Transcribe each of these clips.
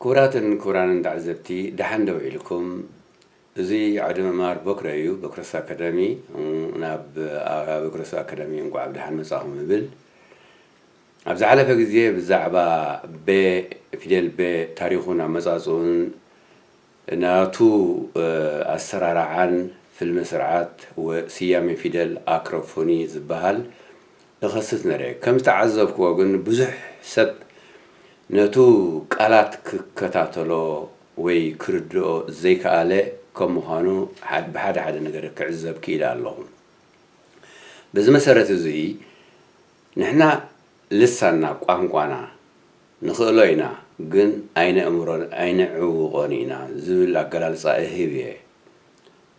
ክቡራትን ክቡራንን ተዓዘብቲ፣ ደሓን ዶ ውዒልኩም? እዚ ዓውደ ምምሃር ቦክረ እዩ፣ ቦክረስ ኣካዳሚ። ናብ ኣበ ቦክረስ ኣካዳሚ እንቋዕ ብደሓን መጻኹም እብል። ኣብ ዝሓለፈ ግዜ ብዛዕባ በ፣ ፊደል በ፣ ታሪኹን ኣመጻጽኡን፣ ናቱ፣ እ፣ ኣሰራርዓን ፍልሚ ስርዓት ወ-፣ ስያሜ ፊደል ኣክሮፎኒ ዝበሃል እኸስት ነረ። ከም ዝተዓዘብክዎ ግን ብዙሕ ሰብ ነቱ ቃላት ክከታተሎ ወይ ክርድኦ ዘይከኣለ ከም ምዃኑ ሓድ-፣ ብሓደ ሓደ ነገር ክዕዘብ ክኢለ ኣለኹ። በዚ መሰረት እዚ ንሕና ልሳንና፣ ቋንቋና፣ ንኽእሎ ኢና፣ ግን ኣይነእምሮን ኣይነዕውቖን ኢና ዝብል ኣገላልጻ እህብ እየ።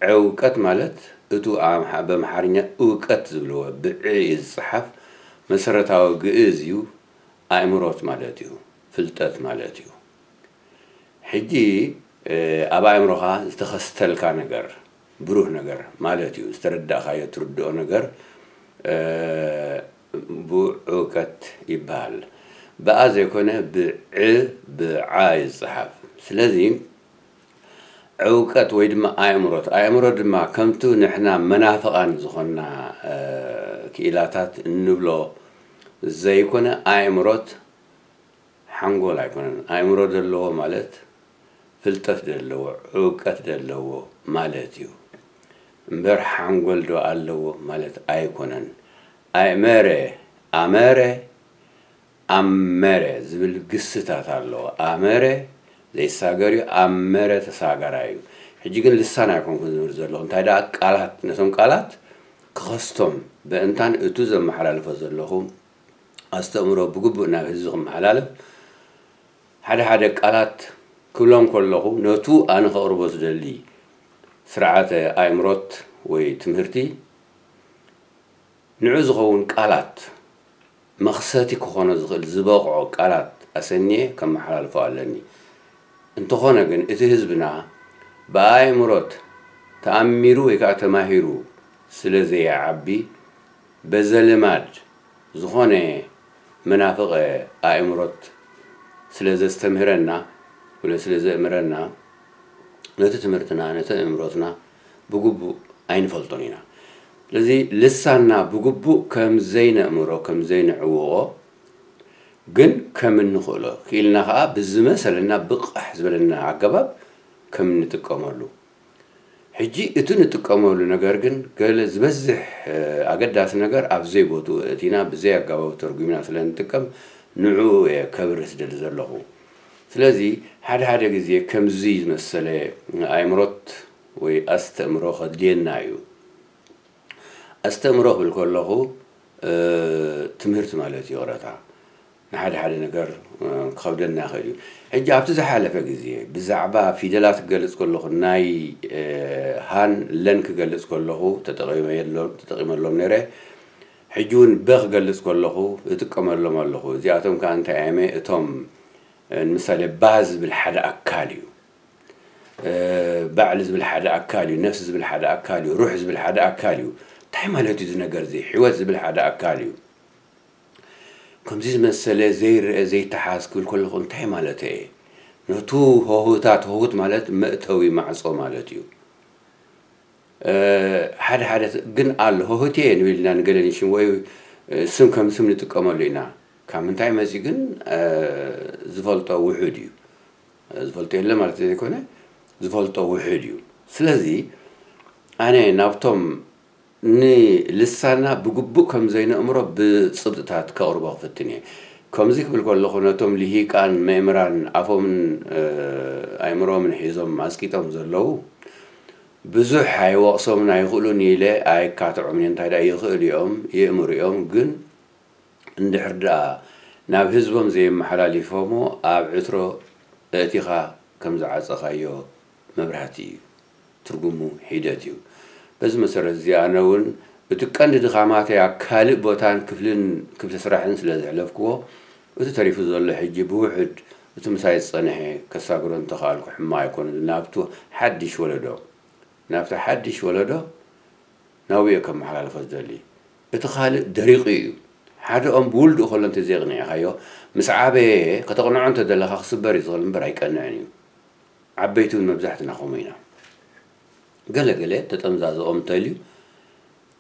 ዕውቀት ማለት እቱ ኣምሓ-፣ በምሓርኛ እውቀት ዝብልዎ ብዕ እዩ ዝጸሓፍ፣ መሰረታዊ ግእዝ እዩ፣ ኣእምሮት ማለት እዩ፣ ፍልጠት ማለት እዩ። ሕጂ፣ እ፣ ኣብ ኣእምሮኻ ዝተኸስተልካ ነገር፣ ብሩህ ነገር ማለት እዩ። ዝተረዳእካዮ ትርድኦ ነገር፣ እ፣ ብዑቀት ይበሃል። ብኣ ዘይኮነ ብዕ፣ ብዓ እዩ ዝጸሓፍ። ስለዚ ዕውቀት ወይ ድማ ኣእምሮት፣ ኣእምሮ ድማ ከምቱ ንሕና መናፍቓን ዝኾንና፣ እ፣ ክኢላታት እንብሎ ዘይኮነ ኣእምሮት ሓንጎል ኣይኮነን። ኣእምሮ ዘለዎ ማለት ፍልጠት ዘለዎ፣ ዕውቀት ዘለዎ ማለት እዩ። እምበር ሓንጎል ዶ ኣለዎ ማለት ኣይኮነን። ኣእመረ፣ ኣመረ፣ ኣመረ ዝብል ግስታት ኣለዎ። ኣመረ ዘይሳገር እዩ፣ ኣመረ ተሳጋራይ እዩ። ሕጂ ግን ልሳን ኣይኮንኩን ዝብል ዘለኹ። እንታይ ደኣ ቃላት፣ ነቶም ቃላት ክኸስቶም በእንታን እቱ ዘመሓላልፎ ዘለኹ ኣስተእምሮ ብግቡእ ናብ ህዝቢ ክመሓላለፍ ሓደ ሓደ ቃላት ክብሎም ከለኹ ነቱ ኣነ ከቕርቦ ዝደሊ ስርዓተ ኣእምሮት ወይ ትምህርቲ ንዑ ዝኸውን ቃላት መኽሰቲ ክኾኖ ዝኽእል ዝበቕዖ ቃላት ኣሰንየ ከመሓላልፎ ኣለኒ። እንተኾነ ግን እቲ ህዝብና ብኣእምሮት ተኣሚሩ ወይ ከዓ ተማሂሩ ስለ ዘይዓቢ በዘልማድ ዝኾነ መናፍቐ ኣእምሮት ስለ ዘስተምህረና ወይ ስለ ዘእምረና ነቲ ትምህርትና ነቲ ኣእምሮትና ብግቡእ ኣይንፈልጦን ኢና። ስለዚ ልሳንና ብግቡእ ከም ዘይነእምሮ ከም ዘይንዕውቖ ግን ከም እንኽእሎ ክኢልና ከዓ ብዝመሰለና ብቕሕ ዝበለና ኣገባብ ከም እንጥቀመሉ ሕጂ እቲ ንጥቀመሉ ነገር ግን ገለ ዝበዝሕ ኣገዳሲ ነገር ኣብ ዘይቦትኡ እቲና ብዘይ ኣጋባቡ ተርጉምና ስለ ንጥቀም ንዕኡ እየ ከብርህ ዝደሊ ዘለኹ። ስለዚ ሓደ ሓደ ግዜ ከምዚ ዝመሰለ ኣእምሮት ወይ ኣስተእምሮ ከድልየና እዩ። ኣስተእምሮ ክብል ከለኹ ትምህርቲ ማለት እዩ። ይቕረታ ንሓደ ሓደ ነገር ክኸብደና ይኽእል እዩ። ሕጂ ኣብቲ ዝሓለፈ ግዜ ብዛዕባ ፊደላት ክገልጽ ከለኹ ናይ ሃን ለን ክገልጽ ከለኹ ተጠቒመሎም ነይረ። ሕጂ እውን በ ክገልጽ ከለኹ እጥቀመሎም ኣለኹ። እዚኣቶም ከኣ እንታይ እዮም? እቶም ንምሳሌ ባ ዝብል ሓደ ኣካል እዩ። ባዕሊ ዝብል ሓደ ኣካል እዩ። ነፍሲ ዝብል ሓደ ኣካል እዩ። ሩሕ ዝብል ሓደ ኣካል እዩ። እንታይ ማለት እዩ እዚ ነገር እዚ? ሕይወት ዝብል ሓደ ኣካል እዩ። ከምዚ ዝመሰለ ዘይረአ ዘይተሓዝ ክብል ከለኹ እንታይ ማለት እየ? ነቱ ሆህታት፣ ሆህት ማለት መእተዊ ማዕጾ ማለት እዩ። ሓደ ሓደ ግን ኣሎ፣ ሆህት እየ ንብል ኢና ንገለ ንሽም ወይ ስም ከም ስም ንጥቀመሉ ኢና። ካብ ምንታይ መጺኡ ግን ዝፈልጦ ውሑድ እዩ። ዝፈልጦ የለ ማለት ዘይኮነ ዝፈልጦ ውሑድ እዩ። ስለዚ ኣነ ናብቶም ንልሳና ብግቡእ ከም ዘይነእምሮ ብጽብጥታት ከቕርቦ ክፍትን እየ። ከምዚ ክብል ከለኹ ነቶም ልሂቃን መእምራን ኣፎምን ኣእምሮምን ሒዞም ኣስቂጦም ዘለዉ ብዙሕ ኣይወቕሶምን ኣይኽእሉን ኢለ ኣይካትዖምን እየ። እንታይ ደኣ ይኽእሉ እዮም፣ የእምሩ እዮም። ግን እንድሕር ደኣ ናብ ህዝቦም ዘየመሓላሊፎሞ ኣብ ዕትሮ ኣእቲኻ ከም ዝዓጸኻዮ መብራህቲ እዩ። ትርጉሙ ሒደት እዩ። በዚ መሰረት እዚ ኣነ እውን እቲ ቀንዲ ድኻማተይ ኣብ ካልእ ቦታን ክፍልን ክፍሊ ስራሕን ስለ ዘሕለፍክዎ እቲ ተሪፉ ዘሎ ሕጂ ብውሑድ እቲ ምሳይ ዝጸንሐ ከሳግሮ እንተኸኣልኩ ሕማቕ ኣይኮነን። ናብቱ ሓድሽ ወለዶ ናብቲ ሓድሽ ወለዶ ናብኡ እየ ከመሓላልፎ ዝደሊ። እቲ ካልእ ደሪቑ እዩ። ሓደ ኦም ብውልድኡ ከሎ እንተዘየቕኒዕኻዮ፣ ምስ ዓበየ ከተቕንዖ እንተደለኻ ክስበር እዩ ዝኽእል እምበር ኣይቀንዕን እዩ። ዓበይቲ እውን መብዛሕትና ከምኡ ኢና። ገለ ገለ ተጠምዛዘ ኦም እንተልዩ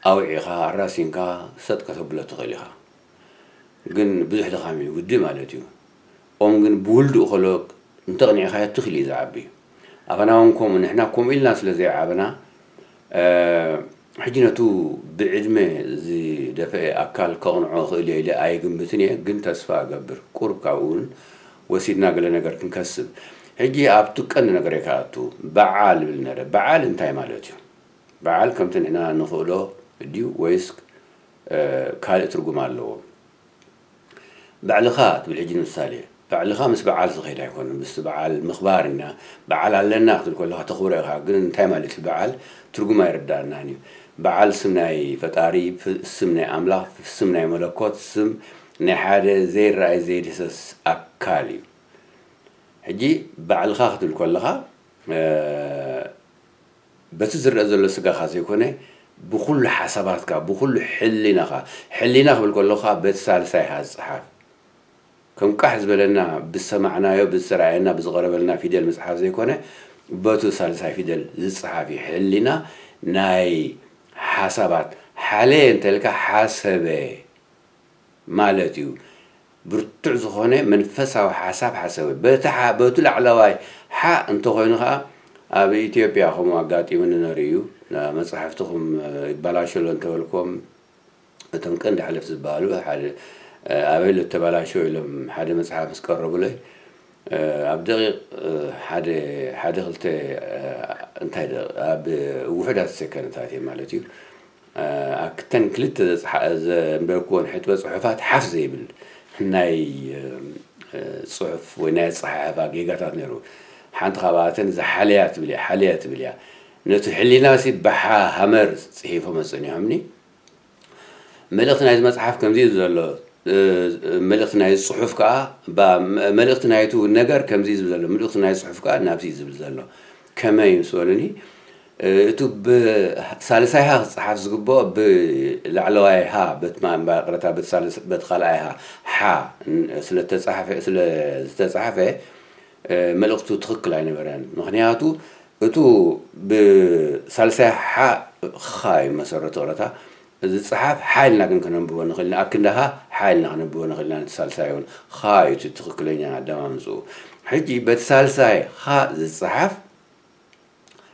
ኣውዒኻ ኣራሲንካ ሰጥ ከተብሎ ትኽእል ኢኻ። ግን ብዙሕ ድኻም እዩ ግዲ ማለት እዩ። ኦም ግን ብውልድኡ ከሎ እንተቕኒዕኻዮ ትኽእል እዩ ዝዓቢ። ኣባና እውን ከምኡ፣ ንሕና ከምኡ ኢልና ስለ ዘይዓበና፣ ሕጂ ነቱ ብዕድመ ዝደፈአ ኣካል ከቕንዖ ክእል እየ ኢለ ኣይግምትን እየ፣ ግን ተስፋ እገብር ቁሩብ ካብኡ እውን ወሲድና ገለ ነገር ክንከስብ። ሕጂ ኣብቱ ቀንዲ ነገር እየ ክኣቱ። በዓል ይብል ነረ። በዓል እንታይ ማለት እዩ? በዓል ከምቲ ንሕና ንኽእሎ ድዩ ወይስ ካልእ ትርጉም ኣለዎ? ባዕልኻ ትብል ሕጂ ንምሳሌ፣ ባዕልኻ ምስ በዓል ዝኸይድ ኣይኮነን። ምስ በዓል ምኽባር ኢና፣ በዓል ኣለና ክትብል ከለኻ ተኽብሮ ኢኻ። ግን እንታይ ማለት እዩ በዓል? ትርጉም ኣይርዳእናን እዩ። በዓል ስም ናይ ፈጣሪ፣ ፍ- ስም ናይ ኣምላኽ፣ ስም ናይ መለኮት፣ ስም ናይ ሓደ ዘይረኣይ ዘይድህሰስ ኣካል እዩ። ሕጂ ባዕልኻ ክትብል ከለኻ፣ በቲ ዝረአ ዘሎ ስጋኻ ዘይኮነ፣ ብኹሉ ሓሳባትካ፣ ብኹሉ ሕሊናኻ። ሕሊና ክብል ከለኻ በቲ ሳልሳይ ሃ ዝጸሓፍ። ከም ቃሕ ዝበለና ብዝሰማዕናዮ፣ ብዝተራእየና፣ ብዝቐረበልና ፊደል ምጽሓፍ ዘይኮነ፣ በቱ ሳልሳይ ፊደል ዝጸሓፍ እዩ። ሕሊና ናይ ሓሳባት ሓለየ እንተልካ ሓሰበ ማለት እዩ። ብርቱዕ ዝኾነ መንፈሳዊ ሓሳብ ሓሰበ። በቲ ሓ- በቱ ላዕለዋይ ሓ እንተኾይኑ ኸዓ ኣብ ኢትዮጵያ ከምኡ ኣጋጢሙኒ ነሩ እዩ። መጽሓፍትኹም ይባላሸሎ እንተበልኩም እቶም ቀንዲ ሓለፍቲ ዝበሃሉ ሓደ ኣበይ ኣሎ ተባላሸው ኢሎም ሓደ መጽሓፍ ምስ ቀረቡለይ ኣብ ደቂቕ ሓደ ሓደ ክልተ እንታይ ደ ኣብ ውሑዳት ሰከንድታት እየ ማለት እዩ። ኣብተን ክልተ ዘንበብክወን ሕጥበ ፅሑፋት ሓፍ ዘይብል ናይ ፅሑፍ ወይ ናይ ኣፀሓሕፋ ጌጋታት ነይሩ። ሓንቲ ካብኣተን እዛ ሓለያ ትብል እያ፣ ሓለያ ትብል እያ። ነቲ ሕሊና ሲ ብሓ ሃመር ፅሒፎም ኣፀኒሖምኒ። መልእኽቲ ናይዚ መፅሓፍ ከምዚ እዩ ዘሎ። መልእኽቲ ናይ ፅሑፍ ከዓ፣ መልእኽቲ ናይቱ ነገር ከምዚ እዩ ዝብል ዘሎ፣ መልእኽቲ ናይ ፅሑፍ ከዓ ናብዚ እዩ ዝብል ዘሎ። ከመይ ምስ በሉኒ፣ እቱ ብሳልሳይ ሃ ክፀሓፍ ዝግብኦ ብላዕለዋይ ሃ፣ በቲ ማ- ማእቕረታ በቲ ሳልስ- በቲ ካልኣይ ሃ ሓ ን- ስለ ተፃሓፈ- ስለ ዝተፃሓፈ፣ መልእኽቱ ትኽክል ኣይነበረን። ምኽንያቱ እቱ ብሳልሳይ ሓ ኻ እዩ መሰረቱ ቅረታ ዝፀሓፍ ሓ ኢልና ግን ከነንብቦ ንኽእል ኢና። ኣክንዲ ሃ ሓ ኢልና ከነንብቦ ንኽእል ኢና። ነቲ ሳልሳይ እውን ኻ እዩ እቲ ትኽክለኛ ኣደማምፅኡ። ሕጂ በቲ ሳልሳይ ኻ ዝፀሓፍ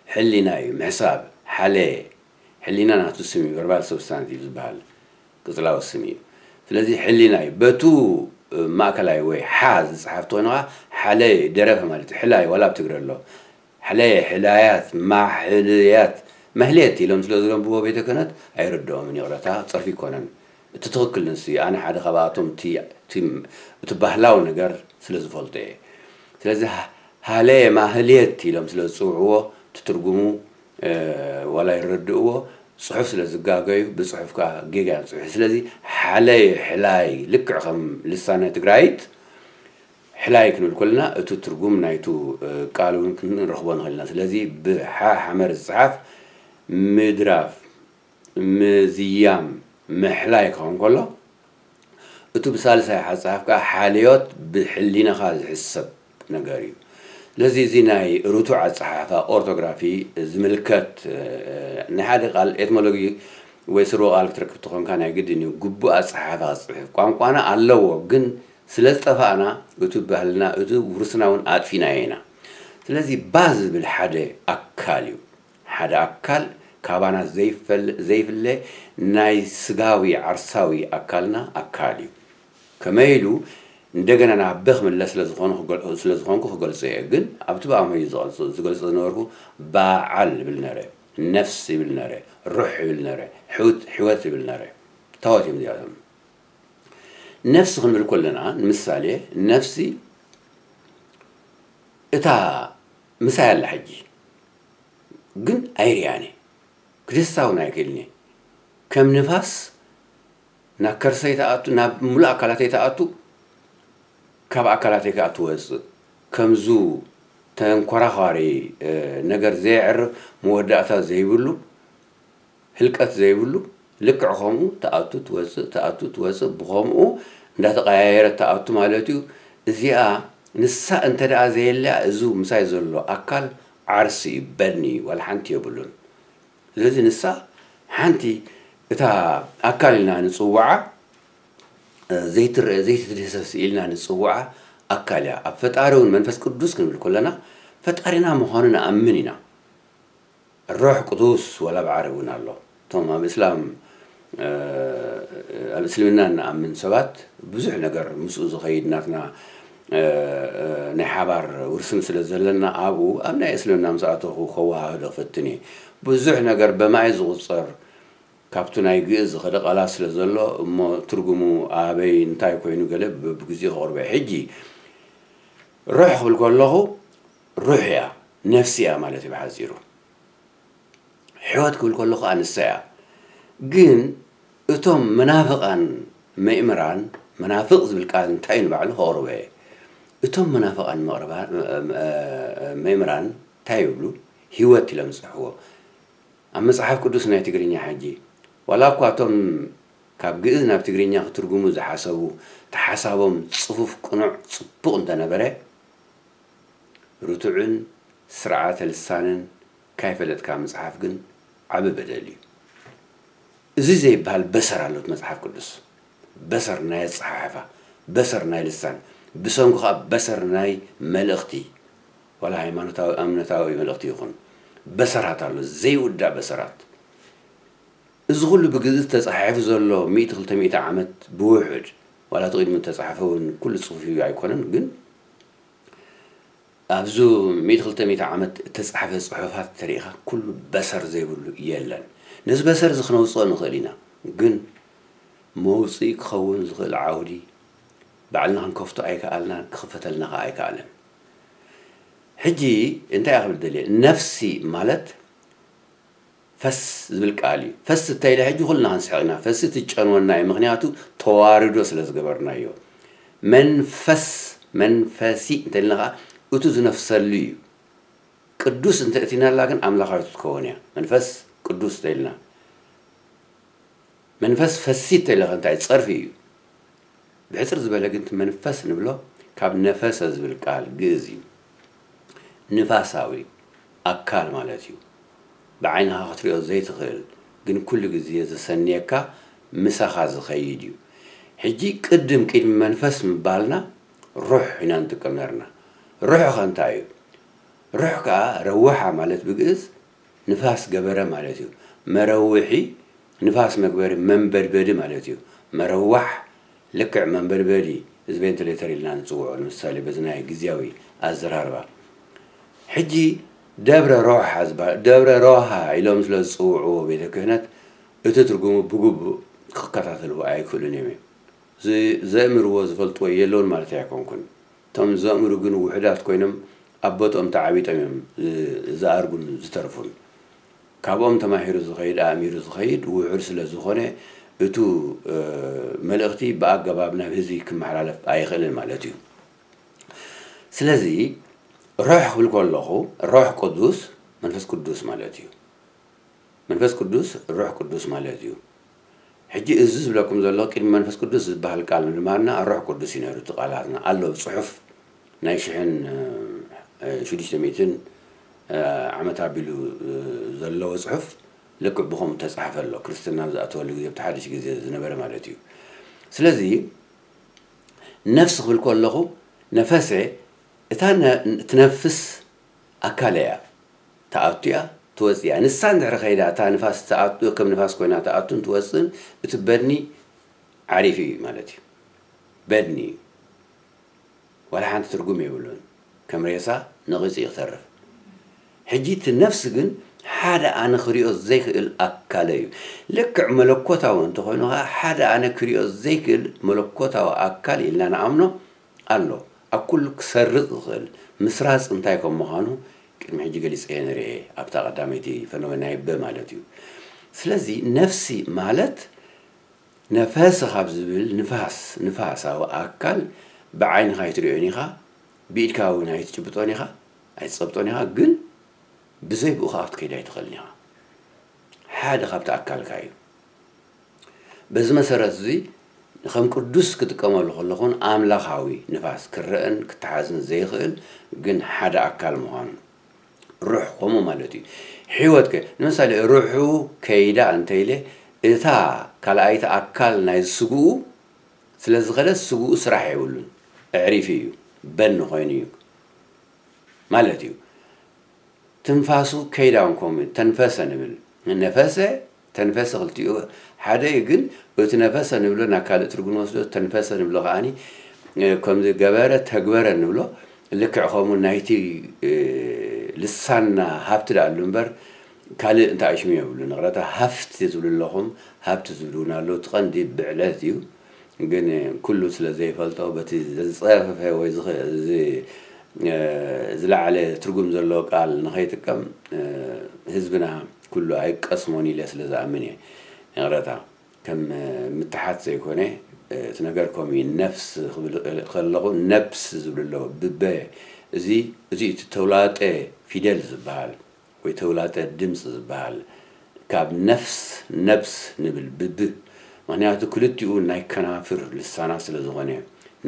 ሕሊና እዩ፣ ምሕሳብ፣ ሓለየ። ሕሊና ናቱ ስም እዩ፣ ቨርባል ሰብስታንቲቭ ዝበሃል ቅፅላዊ ስም እዩ። ስለዚ ሕሊና እዩ። በቱ ማእከላይ ወይ ሓ ዝፀሓፍ ተኾይኑ ከዓ ሓለየ ደረፈ ማለት እዩ። ሕላይ ዋላ ኣብ ትግረ ኣሎ። ሕለየ፣ ሕላያት፣ ማሕልያት፣ መህልየት ኢሎም ስለ ዝረንብዎ ቤተ ክህነት ኣይርድኦምን፣ ይቕረታ፣ ጸርፊ ይኮነን። እቲ ትኽክል ንሱ እዩ። ኣነ ሓደ ካብኣቶም እቲ እቲ እቲ ባህላዊ ነገር ስለ ዝፈልጦ እየ። ስለዚ ሃ- ሃለየ ማህልየት ኢሎም ስለ ዝጽውዕዎ እቲ ትርጉሙ ዋላ ይረድእዎ፣ ጽሑፍ ስለ ዝጋገዩ ብጽሑፍ ከዓ ጌጋ እዮም ጽሑ። ስለዚ ሓለየ ሕላይ ልክዕ ከም ልሳነ ትግራይት ሕላይ ክንብል ከለና እቲ ትርጉም ናይቱ ቃል እውን ክንረኽቦ ንኽእል ኢና። ስለዚ ብሓ ሓመር ዝፅሓፍ ምድራፍ፣ ምዝያም፣ ምሕላይ ክኸውን ከሎ፣ እቱ ብሳልሳይ ሓፃፍ ከዓ ሓልዮት ብሕሊናኻ ዝሕሰብ ነገር እዩ። ስለዚ እዚ ናይ ርቱዕ ኣፀሓሕፋ ኦርቶግራፊ ዝምልከት ንሓደ ቃል ኤትሞሎጊ ወይ ስርወ ቃል ክትረክብ ተኾንካ ናይ ግድን እዩ ግቡእ ኣፀሓሕፋ ክፅሕፍ። ቋንቋና ኣለዎ፣ ግን ስለ ዝጠፋእና እቱ ባህልና እቱ ውርስና እውን ኣጥፊናዮ ኢና። ስለዚ ባ ዝብል ሓደ ኣካል እዩ። ሓደ ኣካል ካባና ዘይፈል- ዘይፍለ ናይ ስጋዊ ዓርሳዊ ኣካልና ኣካል እዩ። ከመይ ኢሉ እንደገና ናብ በ ክምለስ ስለ ዝኾኑ ክገል- ስለ ዝኾንኩ ክገልጾ እየ። ግን ኣብቲ ብኣምሆይ ዝገልጾ ዝገልጾ ዝነበርኩ በዓል ይብል ነረ፣ ነፍስ ይብል ነረ፣ ሩሕ ይብል ነረ፣ ሕውት- ሕይወት ይብል ነረ። ታወት እዮም እዚኣቶም። ነፍሲ ክንብል ከለና ንምሳሌ ነፍሲ እታ ምሳይ ኣላ ሕጂ ግን ኣይርያን እየ። ክድህሳ እውን ኣይክእልን እየ። ከም ንፋስ ናብ ከርሰይ ትኣቱ፣ ናብ ሙሉእ ኣካላተይ ትኣቱ፣ ካብ ኣካላተይ ከዓ ትወፅእ። ከምዙ ተንኮራዃሪ ነገር ዘየዕርፍ፣ መወዳእታ ዘይብሉ፣ ህልቀት ዘይብሉ ልክዕ ከምኡ ትኣቱ ትወፅእ፣ ትኣቱ ትወፅእ፣ ብኸምኡ እንዳተቐያየረት ትኣቱ ማለት እዩ። እዚኣ ንሳ እንተ ደኣ ዘየለያ፣ እዚ ምሳይ ዘሎ ኣካል ዓርሲ እዩ፣ በድኒ እዩ፣ ዋላ ሓንቲ የብሉን። ስለዚ ንሳ ሓንቲ እታ ኣካል ኢልና ንጽውዓ፣ ዘይትረአ ዘይትድህሰስ ኢልና ንጽውዓ ኣካል እያ። ኣብ ፈጣሪ እውን መንፈስ ቅዱስ ክንብል ከለና፣ ፈጣሪና ምዃኑ ንኣምን ኢና። ሮሕ ቅዱስ ወላ ኣብ ዓረብ እውን ኣሎ። እቶም ኣብ እስላም፣ ኣብ እስልምና እንኣምን ሰባት ብዙሕ ነገር ምስኡ ዝኸይድ ናትና ናይ ሓባር ውርስን ስለ ዘለና፣ ኣብኡ ኣብ ናይ እስልምና ምስ ኣተኹ ከወሃህዶ ክፈትን እየ። ብዙሕ ነገር በማይ ዝቑጸር ካብቱ ናይ ግእዝ ዝኸደ ቃላት ስለ ዘሎ፣ እሞ ትርጉሙ ኣበይ እንታይ ኮይኑ ገለ ብብግዜኡ ከቕርቦ እየ። ሕጂ ሩሕ ክብል ከለኹ ሩሕ እያ፣ ነፍሲ እያ ማለት እዩ ብሓጺሩ። ሕይወት ክብል ከለኹ ኣንሳ እያ። ግን እቶም መናፍቓን መእምራን፣ መናፍቕ ዝብል ቃል እንታይ እዩ ንባዕሉ ከቕርቦ እየ። እቶም መናፍቓን መቕርባ-፣ መእምራን እንታይ ይብሉ? ህይወት ኢሎም ዝጽሕዎ። ኣብ መጽሓፍ ቅዱስ ናይ ትግርኛ ሕጂ፣ ዋላ እኳ እቶም ካብ ግእዝ ናብ ትግርኛ ክትርጉሙ ዝሓሰቡ፣ እቲ ሓሳቦም ጽፉፍ፣ ቅኑዕ፣ ጽቡቕ እንተነበረ፣ ርቱዕን ስርዓተ ልሳንን ካይፈለጥካ ምጽሓፍ ግን ዓቢ በደል እዩ። እዚ ዘይበሃል በሰር ኣሎ እቲ መጽሓፍ ቅዱስ። በሰር ናይ ኣጸሓሕፋ፣ በሰር ናይ ልሳን፣ ብሰንኩ ከኣ በሰር ናይ መልእኽቲ፣ ዋላ ሃይማኖታዊ፣ እምነታዊ መልእኽቲ ይኹን፣ በሰራት ኣሎ፣ ዘይውዳእ በሰራት። እዚ ኩሉ ብግእዝ ተጻሒፉ ዘሎ ሚእቲ ክልተ ሚእቲ ዓመት ብውሑድ፣ ዋላ እቲ ቅድሚ ተጻሕፈ እውን ኩሉ ጽሑፍ እዩ ኣይኮነን፣ ግን ኣብዚ ሚእቲ ክልተ ሚእቲ ዓመት እተጻሕፈ ጽሑፋት ተሪኢኻ ኩሉ በሰር ዘይብሉ የለን። ነዚ በሰር እዚ ክነውጽኦ ንኽእል ኢና፣ ግን መውጽኢ ክኸውን ዝኽእል ዓውዲ ባዕልና ክንከፍቶ ኣይከኣልናን፣ ክኽፈተልና ከኣ ኣይከኣለን። ሕጂ እንታይ እየ ክብል ደልየ? ነፍሲ ማለት ፈስ ዝብል ቃል እዩ። ፈስ እንተ ኢለ ሕጂ ኩልና ክንስሕቕ ኢና። ፈስ እቲ ጨንወና እዩ፣ ምኽንያቱ ተዋርዶ ስለ ዝገበርናዮ። መንፈስ፣ መንፈሲ እንተ ኢልና ኸዓ እቱ ዝነፍሰሉ እዩ። ቅዱስ እንተ እቲናላ ግን ኣምላኻዊት ክትከውን እያ። መንፈስ ቅዱስ እንተ ኢልና፣ መንፈስ ፈሲ እንተ ኢለ ኸ እንታይ ጸርፊ እዩ። ብሕጽር ዝበለ ግን እቲ መንፈስ ንብሎ ካብ ነፈሰ ዝብል ቃል ግእዝ እዩ። ንፋሳዊ ኣካል ማለት እዩ። ብዓይንኻ ክትሪኦ ዘይትኽእል ግን ኩሉ ግዜ ዘሰንየካ ምሳኻ ዝኸይድ እዩ። ሕጂ ቅድም ቅድሚ መንፈስ ምባልና ሩሕ ኢና ንጥቀም ነርና። ሩሕ ኸ እንታይ እዩ? ሩሕ ከኣ ረወሓ ማለት ብግእዝ ንፋስ ገበረ ማለት እዩ። መረውሒ ንፋስ መግበሪ መንበድበዲ ማለት እዩ። መረዋሕ ልክዕ መንበድበዲ እዚ ቬንቲሌተር ኢልና ንጽውዖ ንምሳሌ በዚ ናይ ግዝያዊ ኣዘራርባ። ሕጂ ደብረ ሮሃ ዝበሃል፣ ደብረ ሮሃ ኢሎም ስለ ዝጽውዕዎ ቤተ ክህነት እቲ ትርጉሙ ብግቡእ ክከታተልዎ ኣይክእሉን እዮም። ዝ-፣ ዘእምርዎ ዝፈልጥዎ የለውን ማለት ኣይኮንኩን። እቶም ዘእምሩ ግን ውሑዳት ኮይኖም ኣብ ቦትኦም ተዓቢጦም እዮም ዝ-፣ ዝኣርጉን ዝተርፉን። ካብኦም ተማሂሩ ዝኸይድ፣ ኣእሚሩ ዝኸይድ ውሑድ ስለ ዝኾነ፣ እቱ፣ እ፣ መልእኽቲ ብኣገባብ ናብ ህዝቢ ክመሓላለፍ ኣይኽእልን ማለት እዩ። ስለዚ፣ ሮሕ ክብል ከለኹ፣ ሮሕ ቅዱስ፣ መንፈስ ቅዱስ ማለት እዩ። መንፈስ ቅዱስ፣ ሮሕ ቅዱስ ማለት እዩ። ሕጂ እዚ ዝብለኩም ዘሎ፣ ቅድሚ መንፈስ ቅዱስ ዝበሃል ቃል ምድማርና፣ ሮሕ ቅዱስ እዩ ነይሩ፣ እቲ ቃላትና ኣሎ፣ ብጽሑፍ ናይ ሽሕን፣ እ፣ ሽዱሽተ ሚእትን፣ እ፣ ዓመት ኣቢሉ፣ እ፣ ዘለዎ ጽሑፍ ልክዕ ብኸምኡ ተጻሕፈ ኣሎ። ክርስትና ኣብ ዝኣተወሉ ግዜ፣ ኣብቲ ሓድሽ ግዜ ዝነበረ ማለት እዩ። ስለዚ፣ ነፍሲ ክብል ከለኹ፣ ነፈሰ፣ እታ ነ-፣ ትነፍስ ኣካለ እያ። ትኣቱ እያ፣ ትወጽእ እያ። ንሳ እንድሕሪ ከይዳ፣ እታ ንፋስ ትኣቱ፣ ከም ንፋስ ኮይና ትኣቱን ትወጽእን፣ እቲ በድኒ ዓሪፉ እዩ ማለት እዩ። በድኒ እዩ። ዋላ ሓንቲ ትርጉም የብሉን። ከም ሬሳ ነቒጹ እዩ ክተርፍ። ሕጂ እቲ ነፍሲ ግን ሓደ ኣነ ክሪኦ ዘይክእል ኣካለ እዩ። ልክዕ መለኮታዊ እንተኾይኑ ኸዓ ሓደ ኣነ ክሪኦ ዘይክእል መለኮታዊ ኣካል ኢልና ንኣምኖ ኣሎ። ኣብ ኩሉ ክሰርጽ ዝኽእል ምስራጽ እንታይ ከም ምዃኑ ቅድሚ ሕጂ ገሊጸ እየ ንርኤ፣ ኣብታ ቀዳመይቲ ፈነወ ናይ በ ማለት እዩ። ስለዚ ነፍሲ ማለት ነፈሰ ካብ ዝብል ንፋስ፣ ንፋሳዊ ኣካል ብዓይንኻ ኣይትሪኦን ኢኻ፣ ብኢድካ እውን ኣይትጭብጦን ኢኻ፣ ኣይትጸብጦን ኢኻ፣ ግን ብዘይ ብኡ ኸኣ ክትከይድ ኣይትኽእልን ኢኻ። ሓደ ካብቲ ኣካልካ እዩ። በዚ መሰረት እዚ ከም ቅዱስ ክጥቀመሉ ከለኹን ኣምላኻዊ ንፋስ ክረአን ክተሓዝን ዘይኽእል ግን ሓደ ኣካል ምዃኑ ሩሕ ከምኡ ማለት እዩ። ሕይወት ከ ንምሳሌ ሩሑ ከይዳ እንተኢለ እታ ካልኣይቲ ኣካል ናይ ስግኡ ስለ ዝኸደት ስግኡ ስራሕ የብሉን ኣዕሪፉ እዩ በኒ ኮይኑ እዩ ማለት እዩ። ትንፋሱ ከይዳ እውን ከምኡ ተንፈሰ ንብል ነፈሰ ተንፈሰ ክልቲኡ ሓደ እዩ። ግን እቲ ነፈሰ ንብሎ ናብ ካልእ ትርጉም ንወስዶ ተንፈሰ ንብሎ ከዓኒ ከምዚ ገበረ ተግበረ ንብሎ ልክዕ ከምኡ ናይቲ ልሳንና ሃብቲ ደኣ ኣሉ እምበር ካልእ እንታይ ሽሙ የብሉ ንቕረታ ሃፍቲ ትብሉ ኣለኹም። ሃብቲ ዝብሉ እውን ኣለዉ እቲ ቀንዲ ብዕለት እዩ። ግን ኩሉ ስለ ዘይፈልጦ በቲ ዝጸፈፈ ወይ ዝለዓለ ትርጉም ዘለዎ ቃል ንኸይጥቀም ህዝብና ኩሉ ኣይቀስሞን ኢለ ስለ ዝኣምን እየ። ይቕረታ ከም ምትሓት ዘይኮነ እቲ ነገር ከምኡ እዩ። ነፍስ ክብል ከለኹ ነብስ ዝብሉ ኣለዉ ብበ እዚ እዚ እቲ ተውላጠ ፊደል ዝበሃል ወይ ተውላጠ ድምፂ ዝበሃል ካብ ነፍስ ነብስ ንብል ብብ ምክንያቱ ክልቲኡ ናይ ከናፍር ልሳና ስለ ዝኾነ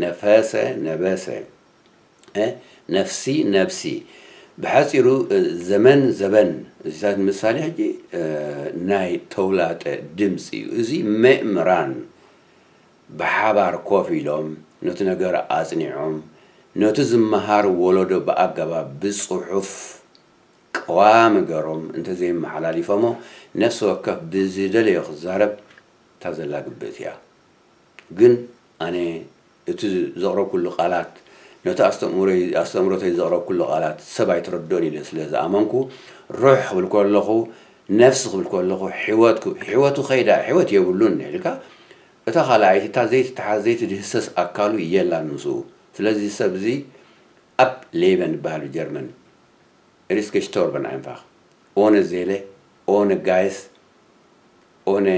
ነፈሰ ነበሰ ነፍሲ ነብሲ ብሓፂሩ ዘመን ዘበን እዚታት ምሳሌ ሕጂ ናይ ተውላጠ ድምፂ እዩ። እዚ ምእምራን ብሓባር ኮፍ ኢሎም ነቲ ነገር ኣፅኒዖም ነቲ ዝመሃር ወለዶ ብኣገባብ ብፅሑፍ ቀዋሚ ገሮም እንተዘይመሓላሊፎሞ ነፍሲ ወከፍ ብዝደለዮ ክዛረብ እታ ዘላ ግብእቲ እያ። ግን ኣነ እቲ ዘቕረብኩሉ ቃላት ነቲ ኣስተምሮተይ ዘቕረብኩሉ ቃላት ሰብ ኣይተረድኦን ኢለ ስለ ዝኣመንኩ ሩሕ ክብል ከለኹ ነፍሲ ክብል ከለኹ ሕይወት ሕይወቱ ከይዳ ሕይወት የብሉን ኢልካ እታ ካልኣይቲ እታ ዘይትተሓዝ ዘይትድህሰስ ኣካሉ የላን ምስኡ። ስለዚ ሰብ እዚ ኣብ ሌበን ይበሃል ብጀርመን Er ist gestorben einfach. Ohne Seele, ohne Geist, ohne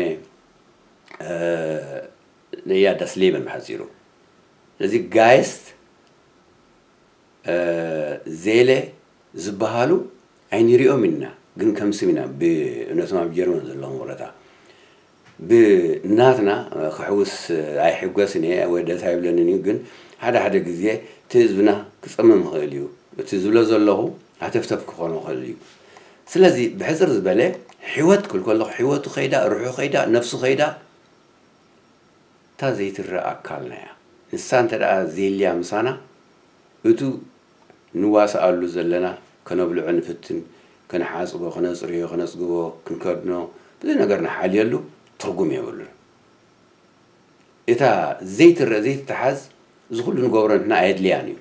äh, ja, das Leben በሓፂሩ። ስለዚ ጋይስት ዜለ ዝበሃሉ ኣይንሪኦም ኢና፣ ግን ከም ስም ኢና ብእነቶም ኣብ ጀርመን ዘለዎም ወረታ ብናትና ክሕውስ ኣይሕጎስን እየ፣ ወደት ኣይብለንን እዩ። ግን ሓደ ሓደ ግዜ እቲ ህዝብና ክፀምም ይኽእል እዩ። እቲ ዝብሎ ዘለኹ ሃተፍተፍ ክኾኖ ይኽእል እዩ። ስለዚ ብሕፅር ዝበለ ሕይወት ክብል ከለኹ ሕይወቱ ከይዳ፣ ርሑ ከይዳ፣ ነፍሱ ከይዳ እታ ዘይትረእ ኣካልና እያ። ንሳ እንተ ደኣ ዘይልያ ምሳና እቱ ንዋስኣሉ ዘለና ከነብልዖ ንፍትን፣ ከነሓጽቦ፣ ከነጽርዮ፣ ከነጽግቦ፣ ክንከድኖ፣ ብዙ ነገር ንሓልየሉ ትርጉም የብሉን። እታ ዘይትረእ ዘይትተሓዝ እዚ ኩሉ ንገብሮ ንሕና ኣየድልያን እዩ።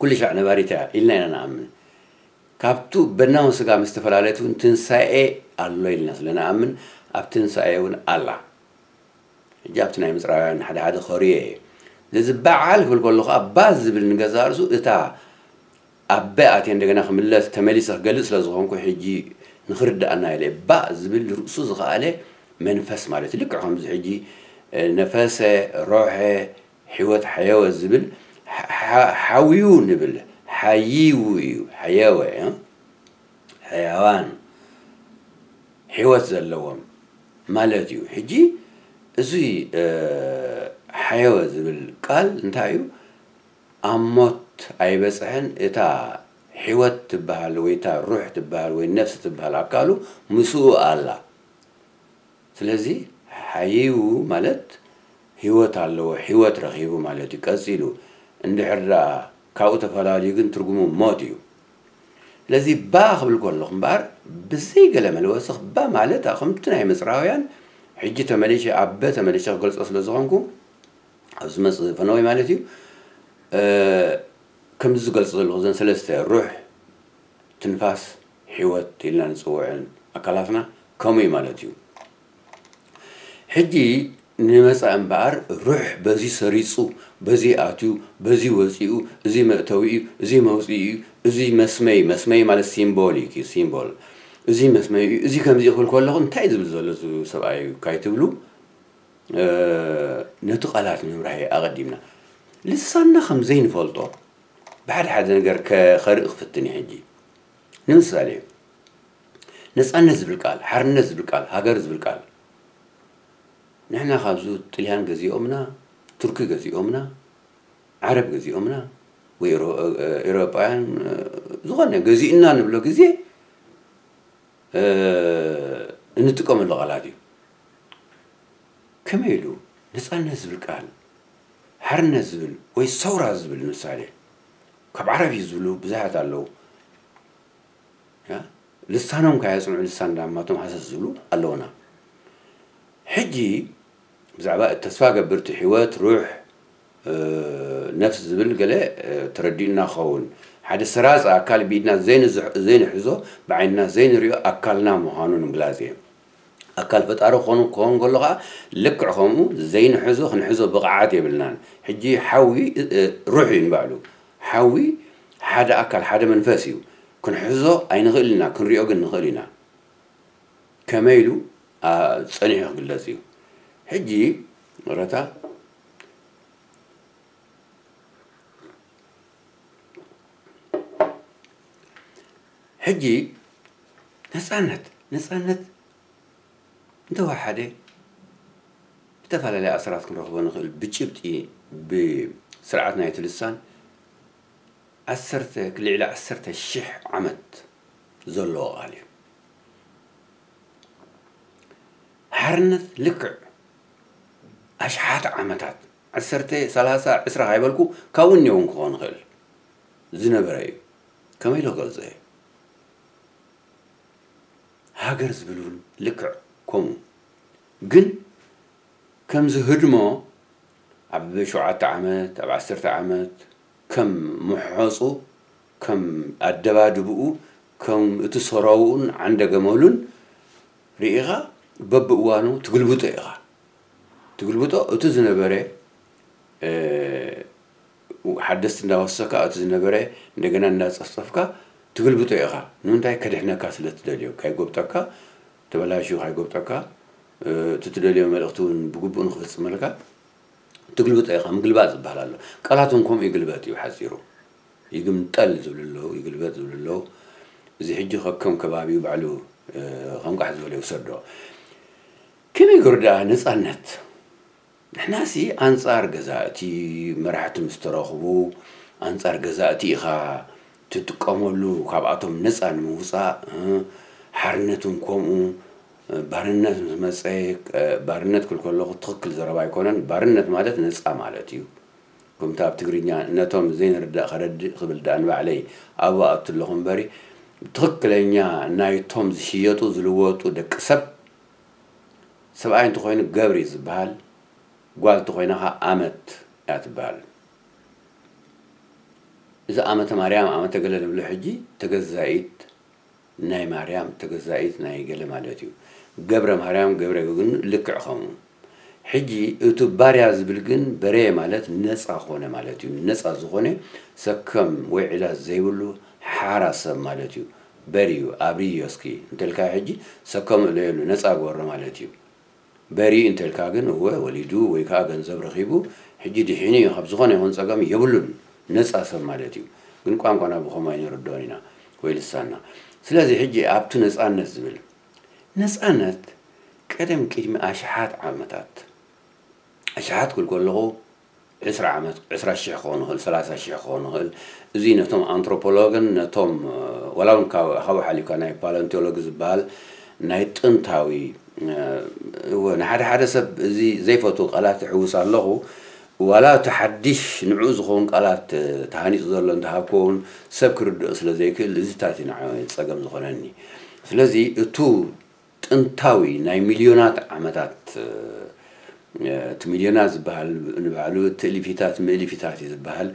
ኩሉ ሻዕ ነባሪት እያ ኢልና ኢና ንኣምን። ካብቱ በናውን ስጋ ምስ ተፈላለየት እውን ትንሳኤ ኣሎ ኢልና ስለ ንኣምን ኣብ ትንሳኤ እውን ኣላ። ሕጂ ኣብቲ ናይ ምጽራውያን ሓደ ሓደ ኸርዮ እየ። ስለዚ በዓል ክብል ከሎ ከዓ ባ ዝብል ንገዛእ ርእሱ እታ ኣብ በ ኣትየ እንደገና ክምለስ ተመሊሰ ክገልጽ ስለ ዝኾንኩ ሕጂ ንኽርድኣና ኢለ እየ። ባ ዝብል ርእሱ ዝኸኣለ መንፈስ ማለት እዩ። ልክዕ ከምዚ ሕጂ ነፈሰ፣ ሮሐ፣ ሕይወት ሓየወ ዝብል ሓዊዩ ንብል ሓይው እዩ ሓየወ ሕያዋን ሕይወት ዘለዎም ማለት እዩ። ሕጂ እዚ ሓየወ ዝብል ቃል እንታይ እዩ? ኣብ ሞት ኣይበፅሐን። እታ ሕይወት ትበሃል ወይ እታ ሩሕ ትበሃል ወይ ነፍሲ ትበሃል ኣካሉ ምስኡ ኣላ። ስለዚ ሓይው ማለት ህይወት ኣለዎ፣ ህይወት ረኺቡ ማለት እዩ። ቀጺሉ እንድሕር ደኣ ካብኡ ተፈላልዩ ግን ትርጉሙ ሞት እዩ። ስለዚ ባ ክብል ከለኹ እምበኣር ብዘይ ገለ መለወሲ ባ ማለት ከምቲ ናይ ምጽራውያን ሕጂ ተመሊሸ ኣብ በ ተመሊሸ ክገልጾ ስለ ዝኾንኩ ኣብ ዝመጽእ ፈነወይ ማለት እዩ። ከምዚ ዝገልጾ ዘለኹ ዘን ሰለስተ ሩሕ ትንፋስ ሕይወት ኢልና ንፅውዐን ኣካላትና ከምኡ እዩ ማለት እዩ። ሕጂ ንመፃኢ እምበኣር ሩሕ በዚ ሰሪፁ፣ በዚ ኣትዩ፣ በዚ ወፂኡ፣ እዚ መእተዊ እዩ፣ እዚ መውፅኢ እዩ፣ እዚ መስመይ፣ መስመይ ማለት ሲምቦል እዩ፣ ሲምቦል። እዚ መስመይ እዩ፣ እዚ ከምዚ ክብል ከለኹ እንታይ እዩ ዝብል ዘሎ እዚ ሰብኣይ እዩ ካይትብሉ ነቲ ቃላት ምብራህ ኣቐዲምና ልሳንና ከም ዘይንፈልጦ ብሓደ ሓደ ነገር ከርኢ ክፍትን እዩ። ሕጂ ንምሳሌ ነፃነት ዝብል ቃል፣ ሓርነት ዝብል ቃል፣ ሃገር ዝብል ቃል ንሕና ካብዚ ጥልያን ገዚኦምና፣ ቱርኪ ገዚኦምና፣ ዓረብ ገዚኦምና፣ ወይ ኤውሮ-፣ ኤውሮጳውያን፣ እ፣ ዝኾነ ገዚእና ንብሎ ግዜ፣ እ፣ እንጥቀመሉ ቃላት እዩ። ከመይ ኢሉ ነጻነት ዝብል ቃል፣ ሓርነት ዝብል ወይ ሰውራ ዝብል ምሳሌ፣ ካብ ዓረብ እዩ ዝብሉ ብዙሓት ኣለዉ። ያ? ልሳኖም ከየጽንዑ ልሳን ዳማቶም ሃሰስ ዝብሉ ኣለዉና። ሕጂ ብዛዕባ እቲ ተስፋ ገብር፣ እቲ ህይወት፣ ሩሕ፣ እ፣ ነፍስ ዝብል ገለ፣ እ፣ ተረዲኡና ክኸውን። ሓደ ሰራጺ ኣካል ብኢድና ዘይንዝሕ-፣ ዘይንሕዞ፣ ብዓይንና ዘይንሪኦ ኣካልና ምዃኑ ንምግላጽ እየ። ኣካል ፈጣሪ ክኾኑ ክኸውን ከሎ ኸዓ ልክዕ ከምኡ ዘይንሕዞ ክንሕዞ ብቕዓት የብልናን። ሕጂ ሓዊ፣ እ፣ እ፣ ሩሕ እዩ ንባዕሉ። ሓዊ ሓደ ኣካል፣ ሓደ መንፈስ እዩ። ክንሕዞ ኣይንኽእል ኢና፣ ክንሪኦ ግን ንኽእል ኢና። ከመይ ኢሉ፣ ኣ፣ ጸኒሑ ክግለጽ እዩ። ሕጂ ረታ፣ ሕጂ ነጻነት፣ ነጻነት እንተወሓደ ብተፈላለየ ኣሰራት ክንረኽቦ ንኽእል። ብጭብጢ፣ ብስርዓት ናይቲ ልሳን ዓሰርተ፣ ልዕሊ ዓሰርተ ሽሕ ዓመት ዘለዎ ቃል እዩ። ሓርነት ልክዕ ኣሽሓት ዓመታት፣ ዓሰርተ፣ ሰላሳ፣ ዕስራ ካይበልኩ፣ ካብኡ እኒኦ እውን ክኾን ይኽእል ዝነበረ እዩ። ከመይ ኢለ ክገልጾ እየ? ሃገር ዝብል እውን ልክዕ ከምኡ። ግን ከምዚ ህድሞ ኣብ ሸውዓተ ዓመት፣ ኣብ ዓሰርተ ዓመት ከም ምሖጹ፣ ከም ኣደባድብኡ፣ ከም እቲ ሰራውኡን ዓንደ ገመሉን ርኢኻ በብእዋኑ ትግልብጦ ኢኻ። ትግልብጦ እቲ ዝነበረ፣ እ፣ ሓደስቲ እንዳወሰካ እቲ ዝነበረ እንደገና እንዳጸፍጸፍካ ትግልብጦ ኢኻ። ንምንታይ? ከድሕነካ ስለ ትደልዮ፣ ካይጎብጠካ፣ ተበላሽዩ ካይጎብጠካ፣ እ፣ እቲ ትደልዮ መልእኽቲ እውን ብግቡእ ንኽፍጽመልካ ትግልብጦ ኢኻ። ምግልባጥ ዝበሃል ኣሎ። ቃላት እውን ከምኡ ይግልበጥ እዩ ብሓጺሩ። ይግምጠል ዝብሉ ኣለዉ፣ ይግልበጥ ዝብሉ ኣለዉ። እዚ ሕጂ ከከም ከባቢኡ ባዕሉ፣ እ፣ ከም ቃሕ ዝበለ ይውሰዶ። ከመይ ገይሩ ደኣ ነጻነት? ንሕናሲ ኣንጻር ገዛእቲ፣ መራሕቲ ምስ ተረኽቡ፣ ኣንጻር ገዛእቲ ኢኻ ትጥቀመሉ፣ ካብኣቶም ነጻ ንምውጻእ፣ እ፣ ሓርነት እውን ከምኡ፣ እ፣ ባርነት ምስ መጸ፣ እ፣ ባርነት ክብል ከለኹ ትኽክል ዘረባ ኣይኮነን። ባርነት ማለት ነጻ ማለት እዩ። ከምቲ ኣብ ትግርኛ ነቶም ዘይንርዳእ ከረድእ ክብል ደኣ ንባዕለይ ኣብኡ ኣቱ ኣለኹ እምበሪ፣ ትኽክለኛ ናይቶም ዝሽየጡ ዝልወጡ ደቂ ሰብ፣ ሰብኣይ እንተኾይኑ ገብር እዩ ዝበሃል፣ ጓል እንተኾይና ኸዓ ኣመት እያ ትበሃል። እዚ ኣመተ ማርያም፣ ኣመተ ገለ ንብሎ ሕጂ ተገዛኢት ናይ ማርያም፣ ተገዛኢት ናይ ገለ ማለት እዩ። ገብረ ማርያም፣ ገብረ ግን ልክዕ ከምኡ። ሕጂ እቲ ባርያ ዝብል ግን በሬ ማለት ነጻ ኾነ ማለት እዩ። ነጻ ዝኾነ ሰከም ወይ ዕዳ ዘይብሉ ሓራ ሰብ ማለት እዩ። በርዩ፣ ኣብርዮ እስኪ እንተልካ ሕጂ ሰከም እለየሉ፣ ነጻ ግበሮ ማለት እዩ። በሪ እንተልካ ግን እወ ወሊዱ ወይ ከዓ ገንዘብ ረኺቡ ሕጂ ድሒኑ እዩ፣ ካብ ዝኾነ ይኹን ጸገም የብሉን፣ ነጻ ሰብ ማለት እዩ። ግን ቋንቋና ብኸምኡ ኣይንርድኦን ኢና ወይ ልሳንና። ስለዚ ሕጂ ኣብቲ ነጻነት ዝብል፣ ነጻነት ቀደም ቅድሚ ኣሽሓት ዓመታት፣ ኣሽሓት ክብል ከለኹ ዕስራ ዓመት፣ ዕስራ ሽሕ ክኸውን ይኽእል፣ ሰላሳ ሽሕ ክኸውን ይኽእል። እዚ ነቶም ኣንትሮፖሎግን ነቶም፣ እ፣ ዋላ እውን ካብ፣ ካብኡ ሓሊፍካ ናይ ፓለንቲዮሎጊ ዝበሃል ናይ ጥንታዊ፣ እ፣ እወ፣ ንሓደ ሓደ ሰብ እዚ ዘይፈትዉ ቃላት እሕውስ ኣለኹ። ዋላ እቲ ሓድሽ ንዕኡ ዝኸውን ቃላት፣ እ፣ ተሃኒጹ ዘሎ እንተሃብኮ እውን ሰብ ክርድኦ ስለ ዘይክእል እዚታት እዩ ንዓይ ጸገም ዝኾነኒ። ስለዚ እቱ ጥንታዊ ናይ ሚልዮናት ዓመታት፣ እ፣ እቲ ሚልዮናት ዝበሃል ንባዕሉ እቲ እልፊታት ምእልፊታት እዩ ዝበሃል።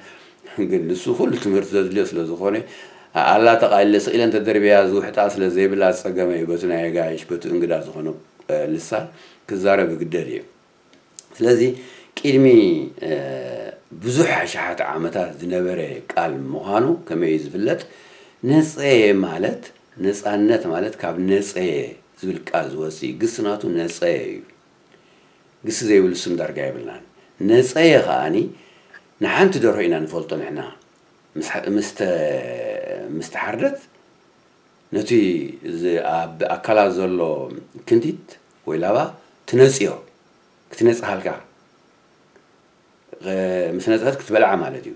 ግን ንሱ ኩሉ ትምህርቲ ዘድልዮ ስለ ዝኾነ፣ ኣላ ተቓሊለ ስቕ ኢለ እንተደርብያ ዝውሕጣ ስለ ዘይብላ ጸገመ እዩ በቲ ናይ ኣጋይሽ፣ በቲ እንግዳ ዝኾነ፣ እ፣ ልሳን ክዛረብ ይግደድ እዩ። ስለዚ ቅድሚ፣ እ፣ ብዙሕ ኣሽሓት ዓመታት ዝነበረ ቃል ምዃኑ ከመይ እዩ ዝፍለጥ? ነጸየ ማለት፣ ነጻነት ማለት ካብ ነጸየ ዝብል ቃል ዝወጽእ እዩ። ግሲ ናቱ ነጸየ እዩ። ግሲ ዘይብሉ ስም ዳርጋ የብልናን። ነጸየ ከኣኒ ንሓንቲ ደርሆ ኢና ንፈልጦ ንሕና። ምስ፣ ምስ ተ-፣ ምስ ተሓርደት ነቲ ዝ-፣ ኣብ ኣካላ ዘሎ ክንቲት ወይ ላባ ትነጽዮ። ትነጽሃልካ። ምስ ነጽሀት ክትበልዓ ማለት እዩ።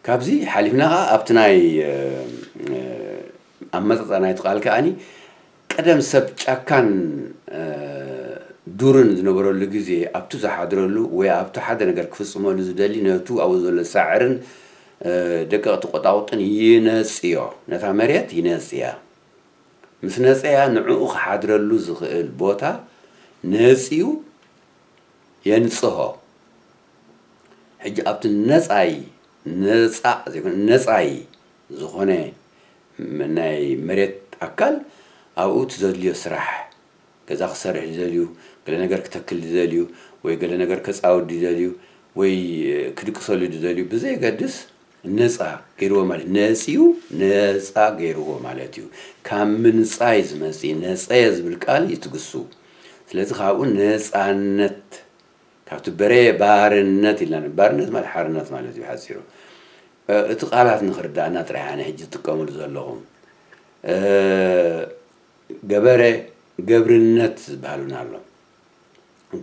ካብዚ ሓሊፍና ኸዓ ኣብቲ ናይ ኣመጻጻ ናይቲ ቃል ከዓኒ ቀደም ሰብ ጫካን ዱርን ዝነበረሉ ግዜ ኣብቱ ዝሓድረሉ ወይ ኣብቱ ሓደ ነገር ክፍጽመሉ ዝደሊ ነቱ ኣብኡ ዘሎ ሳዕርን ደቀቕቲ ቆጣቑጥን ይነጽዮ። ነታ መሬት ይነጽያ። ምስ ነጸያ ንዕኡ ክሓድረሉ ዝኽእል ቦታ ነጽዩ የንጽሆ። ሕጂ ኣብቲ ነጻይ ነጻ ዘይኮነ ነጻይ ዝኾነ ናይ መሬት ኣካል ኣብኡ እቲ ዘድልዮ ስራሕ ገዛ ክሰርሕ ዝደልዩ፣ ገለ ነገር ክተክል ዝደልዩ ወይ ገለ ነገር ከጻውድ ዝደልዩ ወይ ክድቅሰሉ ዝደልዩ ብዘየገድስ ነጻ ገይርዎ ማለት ነጽዩ ነጻ ገይርዎ ማለት እዩ። ካብ ምንጻይ ዝመጽእ ነጸየ ዝብል ቃል ይትግሱ። ስለዚ ካብኡ ነጻነት ካብቲ በረ ባርነት ኢልና ባርነት ማለት ሓርነት ማለት እዩ ሓፂሩ። እቲ ቃላት ንክርዳእና ጥራይ ኣነ ሕጂ ዝጥቀምሉ ዘለኹ ገበረ ገብርነት ዝበሃሉን ኣሎ።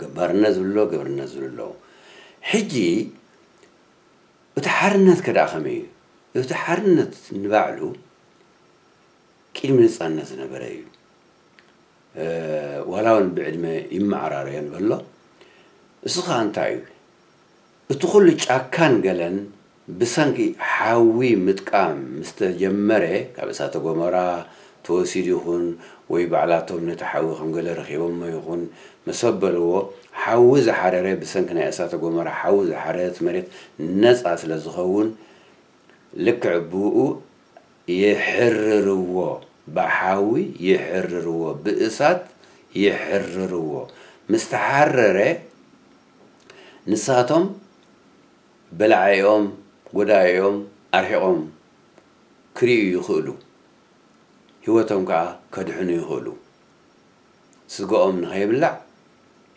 ገባርነት ዝብሎ ገብርነት ዝብሉ ኣለዉ። ሕጂ እቲ ሓርነት ከደኣ ከመይ እዩ? እቲ ሓርነት ንባዕሉ ቅድሚ ነፃነት ዝነበረ እዩ። ዋላ እውን ብዕድመ ይመዓራረዮ ንበሎ። እሱ ከዓ እንታይ እዩ? እቲ ኩሉ ጫካን ገለን ብሰንኪ ሓዊ ምጥቃም ምስ ተጀመረ፣ ካብ እሳተ ጎመራ ተወሲዱ ይኹን ወይ ባዕላቶም ነቲ ሓዊ ከም ገለ ረኺቦሞ ይኹን መሰብ በልዎ፣ ሓዊ ዝሓረረ፣ ብሰንኪ ናይ እሳተ ጎመራ ሓዊ ዝሓረረ እቲ መሬት ነፃ ስለ ዝኸውን፣ ልክዕ ብኡ ይሕርርዎ፣ ብሓዊ ይሕርርዎ፣ ብእሳት ይሕርርዎ። ምስ ተሓረረ ንሳቶም በላዓኦም፣ ጎዳኢኦም ኣርሒቖም ክርእዩ ይኽእሉ። ህይወቶም ከኣ ከድሕኑ ይኽእሉ። ስጋኦም ንኸይብላዕ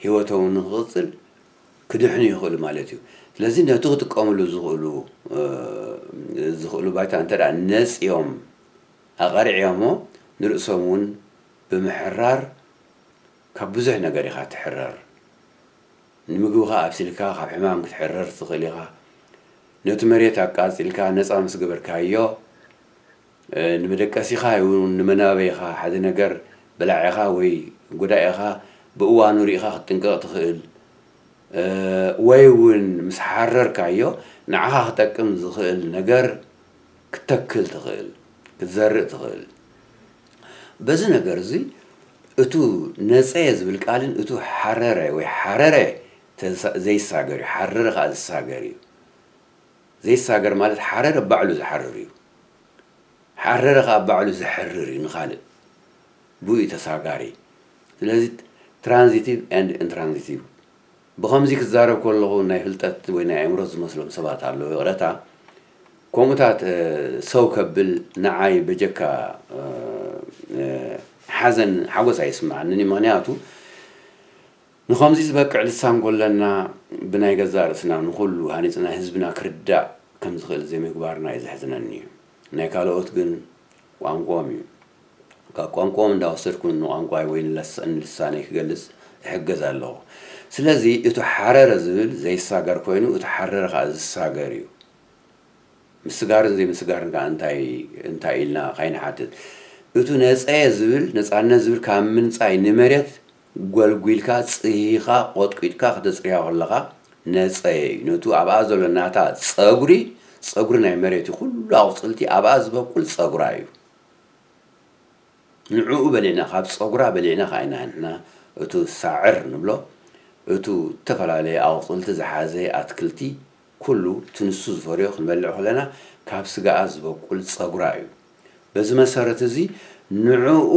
ህይወቶም ንክቕጽል ክድሕኑ ይኽእሉ ማለት እዩ። ስለዚ ነቲ ክጥቀምሉ ዝኽእሉ ዝኽእሉ ባይታ እንተ ደኣ ነጽዮም ኣቐሪዕዮሞ ንርእሶም እውን ብምሕራር ካብ ብዙሕ ነገር ኢኻ ትሕረር። ንምግብኻ ኣብሲልካ ካብ ሕማም ክትሕረር ትኽእል ኢኻ። ነቲ መሬት ኣቃጺልካ ነጻ ምስ ገበርካዮ ንመደቀሲኻ ይኹን ንመናበይኻ ሓደ ነገር በላዒኻ ወይ ጎዳኢኻ ብእዋኑ ርኢኻ ክትጥንቀቕ ትኽእል። ወይ እውን ምስ ሓረርካዮ ንዓኻ ክጠቅም ዝኽእል ነገር ክትተክል ትኽእል፣ ክትዘርእ ትኽእል። በዚ ነገር እዚ እቱ ነጸየ ዝብል ቃልን እቱ ሓረረ ወይ ሓረረ ዘይሳገር እዩ። ሓረረ ከዓ ዝሳገር እዩ። ዘይሳገር ማለት ሓረረ ባዕሉ ዝሓርር እዩ። ሓረረ ከዓ ባዕሉ ዝሕርር እዩ ንኻልእ። ብኡ እዩ ተሳጋሪ። ስለዚ ትራንዚቲቭ ኤንድ ኢንትራንዚቲቭ። ብኸምዚ ክዛረብ ከለኹ ናይ ፍልጠት ወይ ናይ ኣእምሮ ዝመስሎም ሰባት ኣለዉ። ይቕረታ። ከምኡታት ሰው ከብል ንዓይ በጀካ ሓዘን ሓጎስ ኣይስምዓንን እዩ። ምኽንያቱ ንኸምዚ ዝበቅዕ ልሳን ጎለና ብናይ ገዛእ ርእስና ንኹሉ ሃኒፅና ህዝብና ክርዳእ ከም ዝኽእል ዘይምግባርና እዩ ዘሕዝነኒ እዩ። ናይ ካልኦት ግን ቋንቋኦም እዩ። ካብ ቋንቋኦም እንዳወሰድኩ ንቋንቋይ ወይ ንልሳነይ ክገልፅ እሕገዝ ኣለኹ። ስለዚ እቲ ሓረረ ዝብል ዘይሳገር ኮይኑ እቲ ሓረረ ከዓ ዝሳገር እዩ። ምስጋርን ዘይምስጋርን ከዓ እንታይ እንታይ ኢልና ካይንሓትት። እቱ ነፀየ ዝብል ነፃነት ዝብል ካብ ምንፃይ ንመሬት ጎልጒልካ ፅሂኻ ቆጥቂጥካ ክተፅርያ ከለኻ ነፀየ እዩ። ነቱ ኣብኣ ዘሎ ናታ ፀጉሪ ፀጉሪ ናይ መሬት እዩ። ኩሉ ኣቑፅልቲ ኣብኣ ዝበቁል ፀጉራ እዩ። ንዕኡ በሊዕና ካብ ፀጉራ በሊዕና ከዓ ኢና ንሕና እቱ ሳዕር ንብሎ እቱ ዝተፈላለየ ኣቑፅልቲ ዝሓዘ ኣትክልቲ ኩሉ እቲ ንሱ ዝፈርዮ ክንበልዕ ከለና ካብ ስጋኣ ዝበቁል ፀጉራ እዩ። በዚ መሰረት እዚ ንዕኡ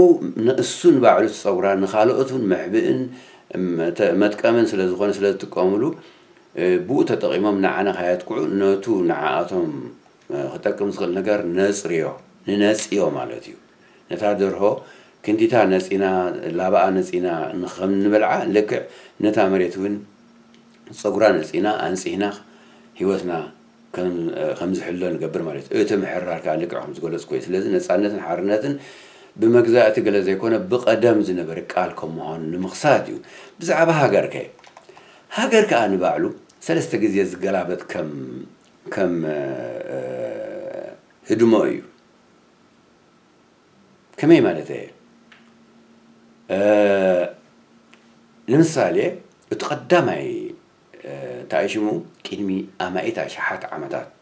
ንእሱ ንባዕሉ እቲ ፀጉራ ንኻልኦት እውን መሕብእን መጠ- መጥቀምን ስለ ዝኾነ ስለ ዝጥቀምሉ ብኡ ተጠቒሞም ንዓና ከየጥቅዑ ነቱ ንዓኣቶም ክጠቅም ዝኽእል ነገር ነፅርዮ ንነፅዮ ማለት እዩ። ነታ ደርሆ ክንዲታ ነፂና ላባኣ ነፂና ንኸም ንበልዓ ልክዕ ነታ መሬት እውን ፀጉራ ነፂና ኣንፂህና ህይወትና ከም ዝሕሎ ንገብር ማለት እዩ። እቲ ምሕራር ከዓ ልክዕ ከም ዝገለፅኩ እዩ። ስለዚ ነፃነትን ሓርነትን ብመግዛእቲ ገለ ዘይኮነ ብቐደም ዝነበረ ቃል ከም ምዃኑ ንምኽሳት እዩ። ብዛዕባ ሃገር ከ ሃገር ከኣ ንባዕሉ ሰለስተ ግዜ ዝገላበጥ ከም ከም ህድሞ እዩ። ከመይ ማለት እየ? ንምሳሌ እቲ ቀዳማይ እንታይ ሽሙ ቅድሚ ኣማኢት ኣሽሓት ዓመታት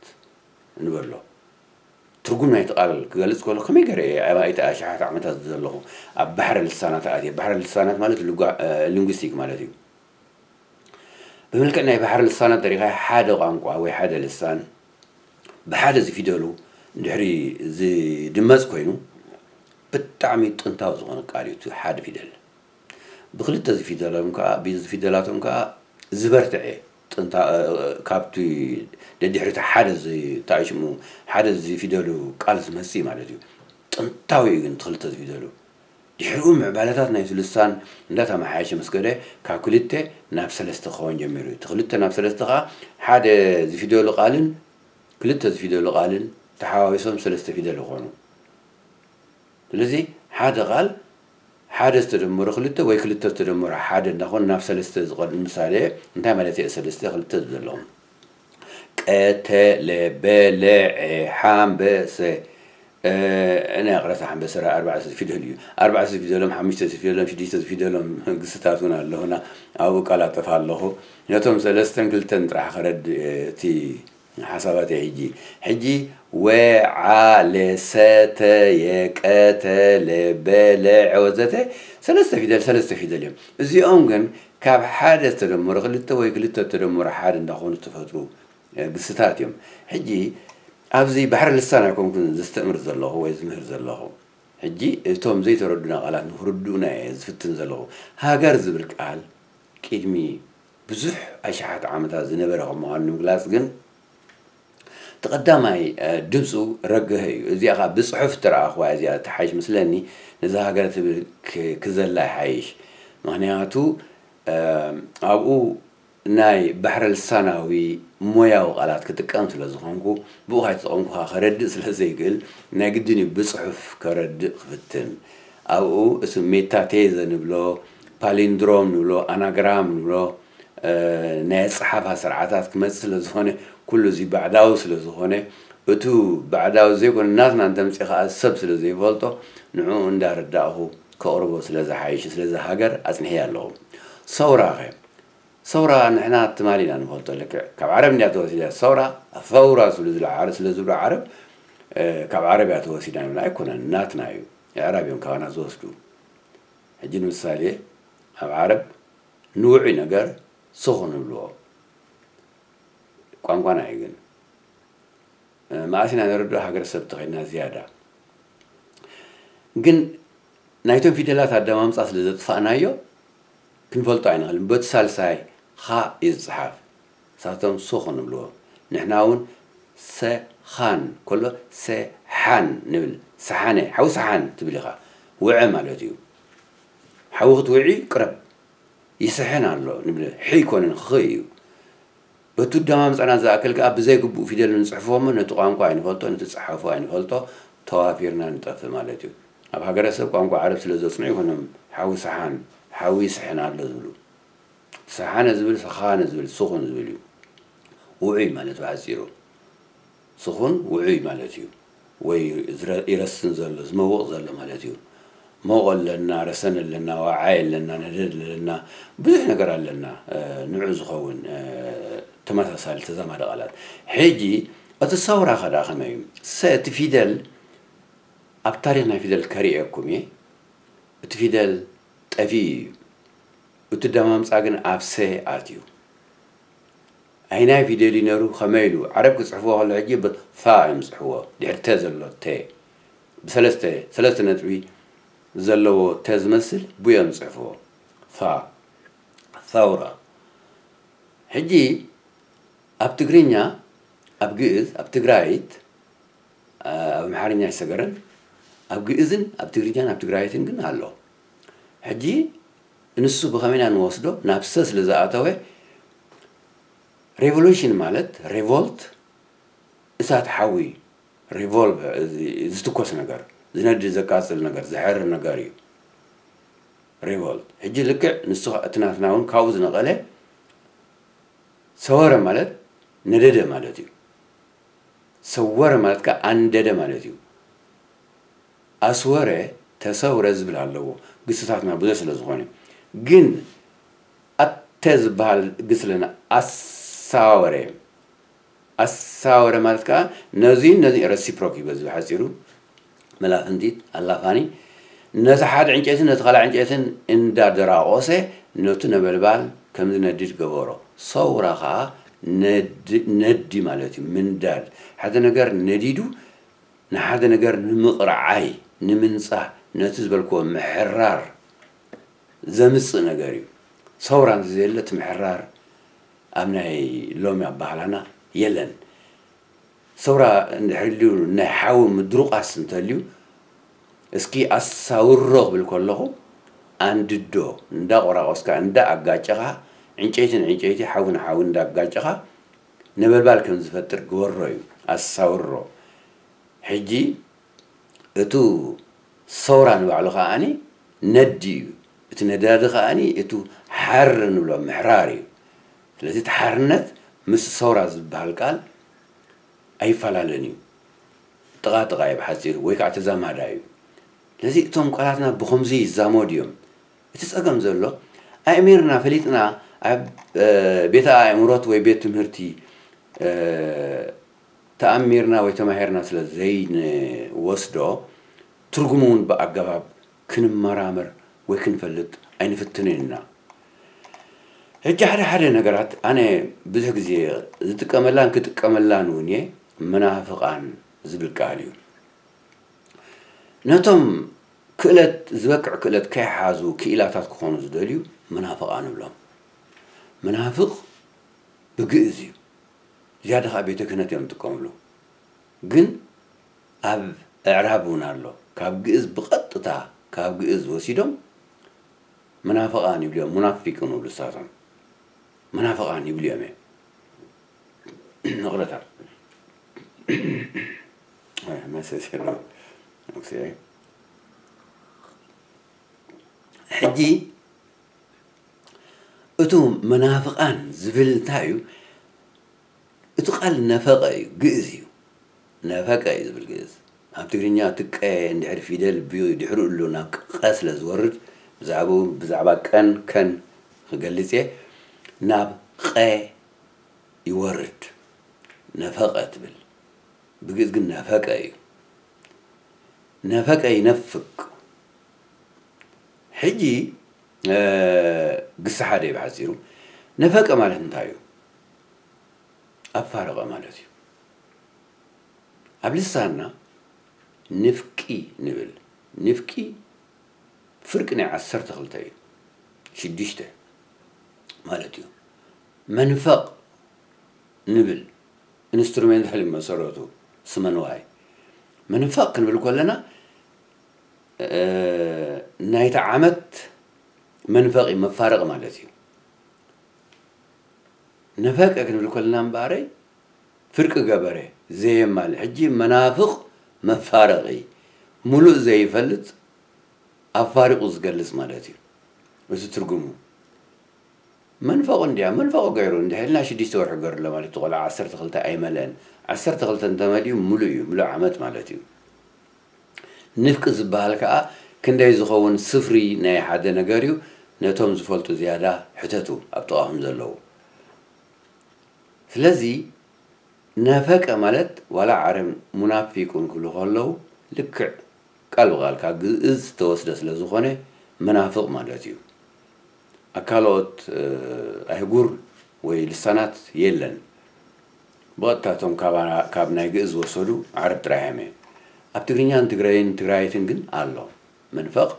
ንበሎ። ትርጉም ናይቲ ቃል ክገልጽ ከሎ ከመይ ገይረ እየ ኣባይቲ ኣሽሓት ዓመታት ዘለኹ ኣብ ባሕረ ልሳናት ኣትየ። ባሕረ ልሳናት ማለት ሊንጉስቲክ ማለት እዩ። ብምልክዕ ናይ ባሕረ ልሳናት ተሪኻ ሓደ ቋንቋ ወይ ሓደ ልሳን ብሓደ ዝፊደሉ ድሕሪ ዝድመጽ ኮይኑ ብጣዕሚ ጥንታዊ ዝኾነ ቃል እዩ እቲ ሓደ ፊደል። ብክልተ ዝፊደሎም ከዓ ዝፊደላቶም ከዓ ዝበርትዐ ጥንታ ካብቲ ደድሕሪቲ ሓደ ታሽሙ ሓደ ዝፊደሉ ቃል ዝመፅእ ማለት እዩ። ጥንታዊ እዩ ግን ክልተ ዝፊደሉ ድሕሪኡ ምዕባለታት ናይቲ ልሳን እንዳተመሓየሸ ምስ ከደ ካብ ክልተ ናብ ሰለስተ ክኸውን ጀሚሩ እዩ። እቲ ክልተ ናብ ሰለስተ ከዓ ሓደ ዝፊደሉ ቃልን ክልተ ዝፊደሉ ቃልን ተሓዋዊሶም ሰለስተ ፊደል ይኾኑ። ስለዚ ሓደ ቃል ሓደ ዝተደመሩ ክልተ ወይ ክልተ ዝተደመሩ ሓደ እንዳኾኑ ናብ ሰለስተ ዝቐድ ምሳሌ እንታይ ማለት እየ? ሰለስተ ክልተ ዘለዎም ቀተ ለበለ ሓምበሰ ናይ ቅረሳ ሓምበሰ ኣርባዕተ ፊደል እዩ። ኣርባዕተ ፊደሎም ሓሙሽተ ፊደሎም ሽዱሽተ ፊደሎም ግስታት እውን ኣለኹና ኣብኡ ቀላጠፍ ኣለኹ። ነቶም ሰለስተን ክልተን ጥራሕ ክረድ እቲ ሓሳባት እየ ሕጂ ሕጂ ወዓለ ሰተየ ቀተለ በለዐ ወዘተ ሰለስተ ፊደል ሰለስተ ፊደል እዮም። እዚኦም ግን ካብ ሓደ ዝተደመሩ ክልተ ወይ ክልተ ዝተደመሩ ሓደ እንዳኾኑ ዝተፈጥሩ ግስታት እዮም። ሕጂ ኣብዚ ባሕሪ ልሳን ኣይኮንኩን ዘስተእምር ዘለኹ ወይ ዝምህር ዘለኹ። ሕጂ እቶም ዘይተረዱና ቃላት ንክርድኡና እየ ዝፍትን ዘለኹ። ሃገር ዝብል ቃል ቅድሚ ብዙሕ ኣሽሓት ዓመታት ዝነበረ ከም ምዃኑ ንምግላፅ ግን እቲ ቀዳማይ ድምፁ ረገሀ እዩ። እዚኣ ከዓ ብፅሑፍ ትረኣኽዋ እዚኣ ተሓይሽ ምስለኒ ነዛ ሃገር ትብል ክዘላ ይሓይሽ። ምክንያቱ ኣብኡ ናይ ባሕረ ልሳናዊ ሞያዊ ቃላት ክጥቀም ስለ ዝኾንኩ ብኡ ካይተጠቐምኩ ከዓ ከረድእ ስለ ዘይክእል ናይ ግድን እዩ ብፅሑፍ ከረድእ ክፍትን። ኣብኡ እቲ ሜታቴዘ ንብሎ ፓሊንድሮም ንብሎ ኣናግራም ንብሎ ናይ ኣፀሓፋ ስርዓታት ክመፅእ ስለ ዝኾነ ኩሉ እዚ ባዕዳዊ ስለ ዝኾነ እቱ ባዕዳዊ ዘይኮነ ናትና እንተምፅእ ከዓ ሰብ ስለ ዘይፈልጦ ንዕኡ እንዳረዳእኹ ከቕርቦ ስለ ዝሓይሽ ስለዚ ሃገር ኣፅንሕያ ኣለኹ። ሰውራ ኸ ሰውራ ንሕና ትማሊ ኢና ንፈልጦ ልክዕ ካብ ዓረብ እንድያ ተወሲዳ ሰውራ ፈውራ ስለ ዝብሉ ዓረ- ስለ ዝብሉ ዓረብ ካብ ዓረብ እያ ተወሲዳ ንብላ ኣይኮነን ናትና እዩ። ኣዕራብ እዮም ካባና ዝወስዱ። ሕጂ ንምሳሌ ኣብ ዓረብ ንውዑይ ነገር ስኹን ይብልዎ። ቋንቋና እዩ ግን መኣስ ኢና ንርድኦ ሃገረሰብ ተኸድና ዝያዳ ግን ናይቶም ፊደላት ኣደማምፃ ስለ ዘጥፋእናዮ ክንፈልጦ ኣይንኽእልን። በቲ ሳልሳይ ኻ እዩ ዝፅሓፍ። ንሳቶም ሶ ክንብልዎ ንሕና እውን ሰኻን ከሎ ሰሓን ንብል። ሰሓነ ሓዊ ሰሓን ትብል ኢኻ። ውዐ ማለት እዩ። ሓዊ ክትውዒ ቅረብ ይስሕን ኣሎ ንብል። ሒ ኣይኮነን ኽ እዩ። በቲ ኣደማምፃና ዝኣክል ከዓ ብዘይግቡእ ፊደል ንፅሕፎ እሞ ነቲ ቋንቋ ኣይንፈልጦ ነቲ ፀሓፎ ኣይንፈልጦ ተዋፊርና ንጠፍእ ማለት እዩ። ኣብ ሃገረሰብ ቋንቋ ዓረብ ስለ ዘፅንዑ ይኮኖም ሓዊ ሰሓን ሓዊ ይስሕን ኣሎ ዝብሉ። ሰሓነ ዝብል ሰኻነ ዝብል ስኹን ዝብል እዩ። ውዑይ ማለት ብሓፂሩ ስኹን ውዑይ ማለት እዩ። ወይ ይረስን ዘሎ ዝመውቕ ዘሎ ማለት እዩ። መውቕ ኣለና፣ ረሰን ኣለና፣ ዋዓይ ኣለና፣ ነደድ ኣለና፣ ብዙሕ ነገር ኣለና ንዑ ዝኸውን ተመሳሳሊ ተዛማዲ ቃላት። ሕጂ እቲ ሰውራ ከዳ ከመይ እዩ? ሰ እቲ ፊደል ኣብ ታሪኽ ናይ ፊደል ከርእየኩም እየ። እቲ ፊደል ጠፊኡ እዩ። እቲ ኣደማምፃ ግን ኣብ ሰ ኣትዩ። ኣይናይ ፊደል እዩ ነሩ ከመይ ኢሉ ዓረብ ክፅሕፍዎ ከሎ ሕጂ ብፋ እዮም ዝፅሕፍዎ። ድሕሪ ተ ዘሎ ተ ብሰለስተ ሰለስተ ነጥቢ ዘለዎ ተ ዝመስል ብኡ እዮም ዝፅሕፍዎ። ፋ ሰውራ። ሕጂ ኣብ ትግርኛ ኣብ ግእዝ ኣብ ትግራይት ኣብ ኣምሓርኛ ኣይሰገረን። ኣብ ግእዝን ኣብ ትግርኛን ኣብ ትግራይትን ግን ኣሎ። ሕጂ ንሱ ብኸመይ ኢና ንወስዶ ናብ ሰ ስለ ዝኣተወ ሬቮሉሽን ማለት ሬቮልት እሳት ሓዊ ሬቮልቨ ዝትኮስ ነገር ዝነድድ ዘቃፅል ነገር ዝሕርር ነገር እዩ። ሬቮልት ሕጂ ልክዕ ንሱ እቲ ናትና እውን ካብኡ ዝነቐለ ሰወረ ማለት ነደደ ማለት እዩ። ሰወረ ማለት ከኣ ኣንደደ ማለት እዩ። ኣስወረ፣ ተሰውረ ዝብል ኣለዎ። ግስታትና ብዙሕ ስለ ዝኾነ። ግን ኣተ ዝበሃል ግስ ኣለና። ኣሳወረ። ኣሳወረ ማለት ከኣ ነዚን ነዚ ረሲፕሮክ ይበዝ ብሓጺሩ። መላፍንቲት፣ ኣላፋኒ፣ ነቲ ሓደ ዕንጨይትን ነቲ ካልእ ዕንጨይትን እንዳደራቆሰ ነቱ ነበልባል ከም ዝነድድ ገበሮ። ሰውራ ከኣ ነድ-፣ ነዲ ማለት እዩ፣ ምንዳድ። ሓደ ነገር ነዲዱ ንሓደ ነገር ንምቕርዓይ፣ ንምንጻህ፣ ነቲ ዝበልክዎ ምሕራር ዘምጽእ ነገር እዩ። ሰውራ እንተዘየለ እቲ ምሕራር ኣብ ናይ ሎሚ ኣበሃህላና የለን። ሰውራ እንድሕር ኢሉ ናይ ሓዊ ምድሩቓስ እንተልዩ፣ እስኪ ኣሳውሮ ክብል ከለኹ፣ ኣንድዶ፣ እንዳቆራቆስካ፣ እንዳኣጋጨኻ፣ ዕንጨይቲ ንዕንጨይቲ፣ ሓዊ ንሓዊ እንዳጋጨኻ፣ ነበልባል ከም ዝፈጥር ግበሮ እዩ። ኣሳውሮ። ሕጂ እቱ ሰውራ ንባዕሉ ከኣኒ ነዲ እዩ። እቲ ነዳዲ ከኣኒ እቱ ሓር ንብሎ ምሕራር እዩ። ስለዚ እቲ ሓርነት ምስ ሰውራ ዝበሃል ቃል ኣይፈላለን እዩ። ጥቓ ጥቓ እዩ ብሓጺሩ፣ ወይ ከዓ ተዛማዳ እዩ። ስለዚ እቶም ቃላትና ብኸምዚ ይዛመዱ እዮም። እቲ ጸገም ዘሎ ኣእሚርና ፈሊጥና ኣብ፣ እ፣ ቤተ ኣእምሮት ወይ ቤት ትምህርቲ፣ እ፣ ተኣሚርና ወይ ተማሂርና ስለ ዘይንወስዶ፣ ትርጉሙ እውን ብኣገባብ ክንመራመር ወይ ክንፈልጥ ኣይንፍትንን ኢና። ሕጂ ሓደ ሓደ ነገራት ኣነ ብዙሕ ግዜ ዝጥቀመላን ክጥቀመላን እውን እየ፣ መናፍቓን ዝብል ቃል እዩ። ነቶም ክእለት፣ ዝበቅዕ ክእለት ከይሓዙ ክኢላታት ክኾኑ ዝደልዩ መናፍቓን ንብሎም። መናፍቕ ብግእዝ እዩ። ዝያዳ ኸዓ ቤተ ክህነት እዮም ዝጥቀምሉ። ግን ኣብ ኣዕራብ እውን ኣሎ። ካብ ግእዝ ብቐጥታ፣ ካብ ግእዝ ወሲዶም መናፍቓን ይብሉ እዮም። ሙናፊቅ ንብሉ ንሳቶም። መናፍቓን ይብሉ እዮም። ይቕረታ። ኣይ፣ መሰስ የለውም። ኦኬ። ሕጂ እቱ መናፍቓን ዝብል እንታይ እዩ? እቲ ቃል ነፈቐ እዩ፣ ግእዝ እዩ። ነፈቀ እዩ ዝብል ግእዝ። ኣብ ትግርኛ እቲ ቀ እንድሕር ፊደል ቢ-፣ ድሕሪኡ ኣሎ ናብ ቀ ስለ ዝወርድ፣ ብዛዕባኡ፣ ብዛዕባ ቀን ከን ክገልጽ እየ፣ ናብ ቐ ይወርድ። ነፈቐ ትብል። ብግእዝ ግን ነፈቀ እዩ። ነፈቀ ይነፍቅ። ሕጂ፣ እ፣ ግሲ ሓደ እዩ ብሓጺሩ። ነፈቀ ማለት እንታይ እዩ? ኣፋረቐ ማለት እዩ። ኣብ ልሳንና ንፍቂ ንብል። ንፍቂ ፍርቂ ናይ ዓሰርተ ክልተ እዩ። ሽዱሽተ ማለት እዩ። መንፈቕ ንብል። ኢንስትሩሜንታል እዩ መሰረቱ፣ ስመ ንዋይ። መንፈቕ ክንብል ከለና፣ እ፣ ናይቲ ዓመት መንፈቒ፣ መፋረቒ ማለት እዩ። ነፈቀ ክንብል ከለና እምበኣረይ፣ ፍርቂ ገበረ፣ ዘየማልእ። ሕጂ መናፍቕ መፋረቒ፣ ሙሉእ ዘይፈልጥ፣ ኣፋሪቑ ዝገልጽ ማለት እዩ። እዚ ትርጉሙ። መንፈቑ እንድያ፣ መንፈቑ ገይሩ፣ እንድሕር ኢልና ሽዱሽተ ወርሒ ገይሩ ኣሎ ማለት እዩ። ቆልዓ ዓሰርተ ክልተ ኣይመልአን። ዓሰርተ ክልተ እንተመሊኡ ሙሉእ እዩ፣ ሙሉእ ዓመት ማለት እዩ። ንፍቂ ዝበሃል ከኣ ክንደይ ዝኸውን ስፍሪ ናይ ሓደ ነገር እዩ። ነቶም ዝፈልጡ ዝያዳ ሕተቱ ኣብ ጥቓኹም ዘለዉ። ስለዚ ነፈቀ ማለት ዋላ ዓረብ ሙናፊቁን ክብሉ ከለዉ ልክዕ ቃል ብቃል ካብ ግእዝ ዝተወስደ ስለ ዝኾነ መናፍቕ ማለት እዩ። ኣብ ካልኦት፣ እ፣ ኣህጉር ወይ ልሳናት የለን። ብቐጥታ እቶም ካባ-፣ ካብ ናይ ግእዝ ዝወሰዱ ዓረብ ጥራይ እዮም። ኣብ ትግርኛን ትግረይን ትግራይትን ግን ኣሎ። መንፈቕ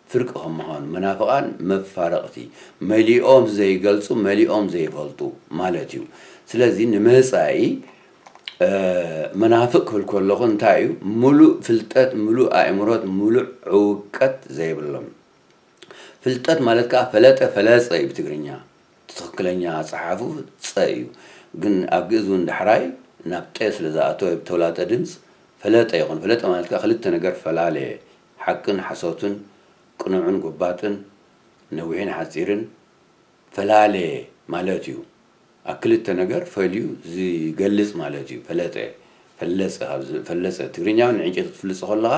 ፍርቂ ከም ምዃኑ፣ መናፍቓን መፋረቕቲ፣ መሊኦም ዘይገልጹ፣ መሊኦም ዘይፈልጡ ማለት እዩ። ስለዚ ንመጻኢ፣ እ፣ መናፍቕ ክብል ከለኹ እንታይ እዩ? ምሉእ ፍልጠት፣ ምሉእ ኣእምሮት፣ ምሉእ ዕውቀት ዘይብሎም። ፍልጠት ማለት ከኣ ፈለጠ፣ ፈለጸ እዩ ብትግርኛ። ትኽክለኛ ኣጸሓሕፋኡ ጸ እዩ። ግን ኣብ ግእዝ እውን ዳሕራይ ናብ ጤ ስለ ዝኣተወ ብተውላጠ ድምፅ ፈለጠ ይኹን። ፈለጠ ማለት ከኣ ክልተ ነገር ፈላለየ። ሓቅን ሓሶትን፣ ቅኑዕን ጎባጥን፣ ነዊሕን ሓጺርን ፈላለየ ማለት እዩ። ኣብ ክልተ ነገር ፈልዩ ዝገልጽ ማለት እዩ። ፈለጠ፣ ፈለጸ፣ ካብ ዝ-፣ ፈለጸ። ትግርኛ እውን ንዕንጨይቲ ክትፍልጾ ከለኻ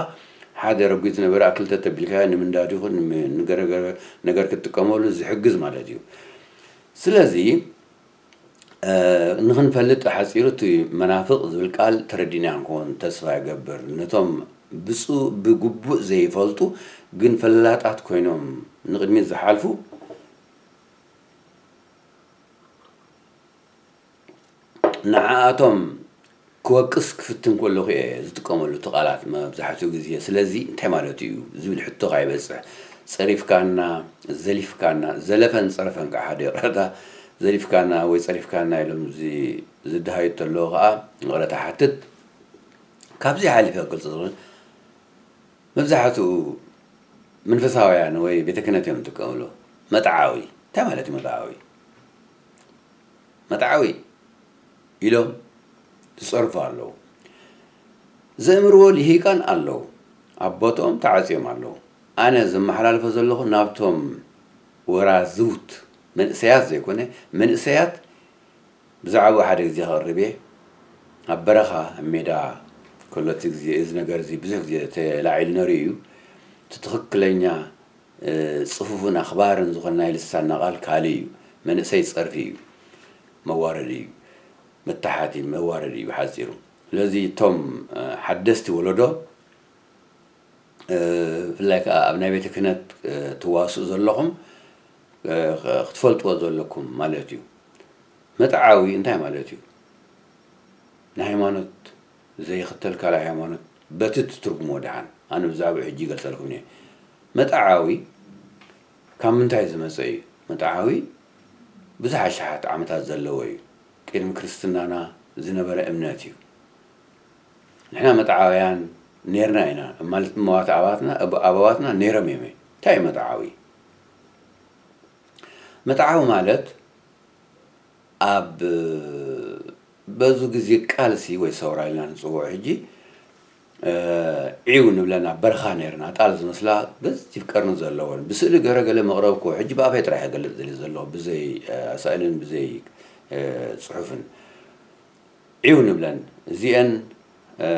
ሓደ ረጒድ ዝነበረ ኣብ ክልተ ተቢልካዮ ንምንዳድ ይኹን ንገረገረ ነገር ክትጥቀመሉ ዝሕግዝ ማለት እዩ። ስለዚ፣ እ፣ ንኽንፈልጥ ሓጺሩ እቲ መናፍቕ ዝብል ቃል ተረዲእና ክንከውን ተስፋ ይገብር። ነቶም ብፁ-፣ ብግቡእ ዘይፈልጡ ግን ፈላጣት ኮይኖም ንቕድሚት ዝሓልፉ ንዓኣቶም ክወቅስ ክፍትን ከለኹ እየ ዝጥቀመሉ እቲ ቃላት መብዛሕትኡ ግዜ። ስለዚ እንታይ ማለት እዩ ዝብል ሕቶ ከይበጽሕ፣ ጸሪፍካና፣ ዘሊፍካና፣ ዘለፈን ጸረፈን ከዓ ሓደ ይቕረታ፣ ዘሊፍካና ወይ ጸሪፍካና ኢሎም ዚ-፣ ዝደሃዩ እንተለዉ ከዓ ይቕረታ ሓትት። ካብዚ ሓሊፈ ክገልጾ ዝኽእል መብዛሕትኡ መንፈሳውያን ወይ ቤተ ክህነት እዮም ዝጥቀምሉ። መጥዓዊ፣ እንታይ ማለት እዩ መጥዓዊ? መጥዓዊ ኢሎም ዝጸርፉ ኣለዉ። ዘእምርዎ ልሂቃን ኣለዉ። ኣብ ቦትኦም ተዓጽዮም ኣለዉ። ኣነ ዘመሓላልፎ ዘለኹ ናብቶም ወራዝውት መንእሰያት ዘይኮነ፣ መንእሰያት ብዛዕባኡ ሓደ ግዜ ከቕርብ እየ። ኣብ በረኻ፣ ኣብ ሜዳ ከሎ እቲ ግዜ፣ እዚ ነገር እዚ ብዙሕ ግዜ ተላዒሉ ነይሩ እዩ። እቲ ትኽክለኛ፣ እ፣ ጽፉፍን ኣኽባርን ዝኾነ ናይ ልሳንና ቃል ካልእ እዩ። መንእሰይ ጸርፊ እዩ። መዋረዲ እዩ። መታሓቲ፣ መዋረዲ እዩ ብሓጺሩ። ስለዚ እቶም፣ እ፣ ሓደስቲ ወለዶ፣ እ፣ ብፍላይ ከኣ ኣብ ናይ ቤተ ክህነት፣ እ፣ ትዋስኡ ዘለኹም፣ እ፣ ኽ-፣ ክትፈልጥዎ ዘለኩም ማለት እዩ። መጥዓዊ እንታይ ማለት እዩ? ንሃይማኖት ዘይኽተል ካልእ ሃይማኖት በቲ ትትርጉሞ ደሓን፣ ኣነ ብዛዕባኡ ሕጂ ይገልጸልኩም እየ። መጥዓዊ ካብ ምንታይ ዝመጸ እዩ? መጥዓዊ ብዙሕ ኣሽሓት ዓመታት ዘለዎ እዩ። ቅድሚ ክርስትናና ዝነበረ እምነት እዩ። ንሕና መጥዓውያን ኔርና ኢና፣ ማለት እመዋት ኣባትና፣ እብ-፣ ኣበዋትና ኔሮም እዮም። እንታይ እዩ መጥዓዊ? መጥዓዊ ማለት ኣብ በዙ ግዜ ቃልሲ ወይ ሰውራ ኢልና ንጽውዖ ሕጂ፣ እ፣ ዒው ንብለን ኣብ በረኻ ኔርና፣ ጣል ዝመስላ ገዚፍ ቀርኒ ዘለወን። ብስእሊ ገረ ገለ መቕረብኩ፣ ሕጂ ብኣፈይ ጥራሕ እገልጽ ደልየ ዘለኹ፣ ብዘይ፣ እ፣ ኣሳእልን ብዘይ፣ እ፣ ጽሑፍን። ዒው ንብለን። እዚአን፣ እ፣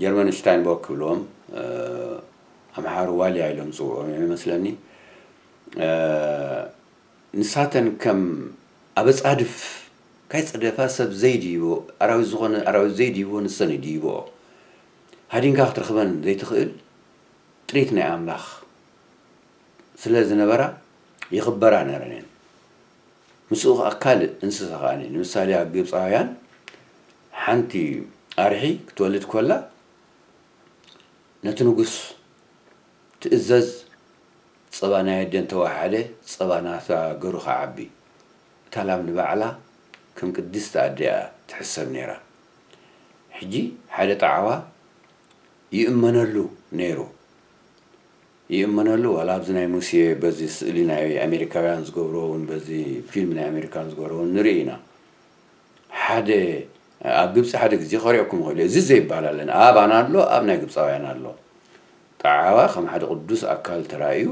ጀርመን ሽታይንቦክ ክብልዎም፣ እ፣ ኣምሓሩ ዋልያ ኢሎም ዝጽውዑ እዮም ይመስለኒ። እ፣ ንሳተን ከም ኣበጻድፍ ካይጸደፋ ሰብ ዘይድይቦ፣ ኣራዊት ዝኾነ ኣራዊት ዘይድይቦ ንሰን ይድይብኦ። ሃዲንካ ክትረኽበን ዘይትኽእል ጥሪት ናይ ኣምላኽ ስለ ዝነበራ ይኽበራ ነረን እየን። ምስኡ ከኣ ካልእ እንስሳ ከኣ፣ ንምሳሌ ኣብ ግብጻውያን ሓንቲ ኣርሒ ክትወልድ ኮላ ነቲ ንጉስ ትእዘዝ፣ ጸባ ናይ ኣደን ተዋሓደ፣ ጸባ ናታ ገሩ ክዓቢ። እታ ላም ንባዕላ ከም ቅድስቲ ኣደ እያ ትሕሰብ ነይራ። ሕጂ ሓደ ጣዕዋ ይእመነሉ ነይሩ። ይእመነሉ፣ ዋላ ኣብዚ ናይ ሙሴ በዚ ስእሊ ናይ ኣሜሪካውያን ዝገብርዎ እውን፣ በዚ ፊልም ናይ ኣሜሪካን ዝገብርዎ እውን ንርኢ ኢና። ሓደ፣ ኣብ ግብጺ ሓደ ግዜ ከሪኦኩም ይኽእሉ እዩ። እዚ ዘይባል ኣለን። ኣባና ኣሎ፣ ኣብ ናይ ግብጻውያን ኣሎ። ጣዓዋ ከም ሓደ ቅዱስ ኣካል ተራእዩ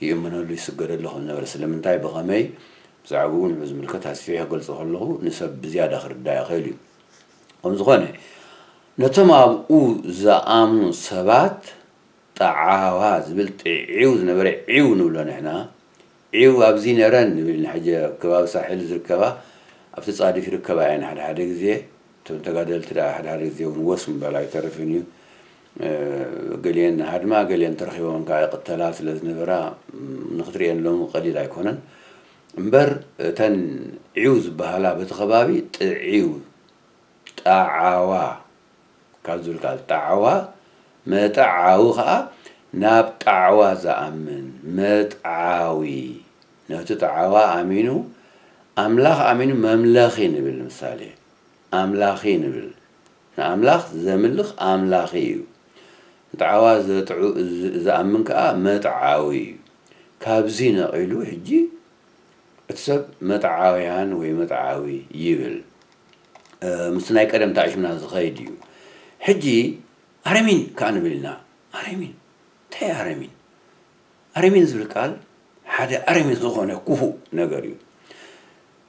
ይእመነሉ፣ ይስገደሉ ከም ዝነበረ፣ ስለምንታይ፣ ብኸመይ፣ ብዛዕባኡ ንዑ ዝምልከት ኣስፊሐ ክገልጾ ከለኹ ንሰብ ብዝያዳ ክርዳእ ይኽእል እዩ። ከም ዝኾነ፣ ነቶም ኣብኡ ዝኣምኑ ሰባት ጣዓዋ ዝብል ጥዒው ዝነበረ ዒው ንብሎ ንሕና። ዒው ኣብዚ ነረን ንብል ንሕጂ ኣብ ከባቢ ሳሕል ዝርከባ፣ ኣብቲ ጻድፍ ይርከባ እየን ሓደ ሓደ ግዜ። እቶም ተጋደልቲ ደኣ ሓደ ሓደ ግዜ እውን ወስ ምባል ኣይተርፍን እዩ። እ፣ ገሊአን ሃድማ፣ ገሊአን ተረኺቦም ከኣ ይቕተላ ስለ ዝነበራ፣ ም፣ ንኽትርእየን ሎሚ ቀሊል ኣይኮነን። እምበር እተን ዒው ዝበሃላ በቲ ከባቢ ጥዒው፣ ጣዓዋ ካብ ዝብል ቃል ጣዕዋ፣ መጥዓዊ ከኣ ናብ ጣዕዋ ዝኣምን መጥዓዊ፣ ነቲ ጣዕዋ ኣሚኑ፣ ኣምላኽ ኣሚኑ መምለኺ ንብል። ምሳሌ፣ ኣምላኺ ንብል። ንኣምላኽ ዘምልኽ ኣምላኺ እዩ። ንጣዕዋ ዘጥዑ-፣ ዝ-፣ ዝኣምን ከኣ መጥዓዊ እዩ። ካብዚ ነቒሉ ሕጂ እቲ ሰብ መጥዓውያን ወይ መጥዓዊ ይብል። እ፣ ምስቲ ናይ ቀደም ተኣሽምና ዝኸይድ እዩ። ሕጂ ኣረሚን ከኣ ንብል ኢና። ኣረሚን? እንታይ ኣረሚን? ኣረሚን ዝብል ቃል ሓደ ኣረሚን ዝኾነ ክፉእ ነገር እዩ።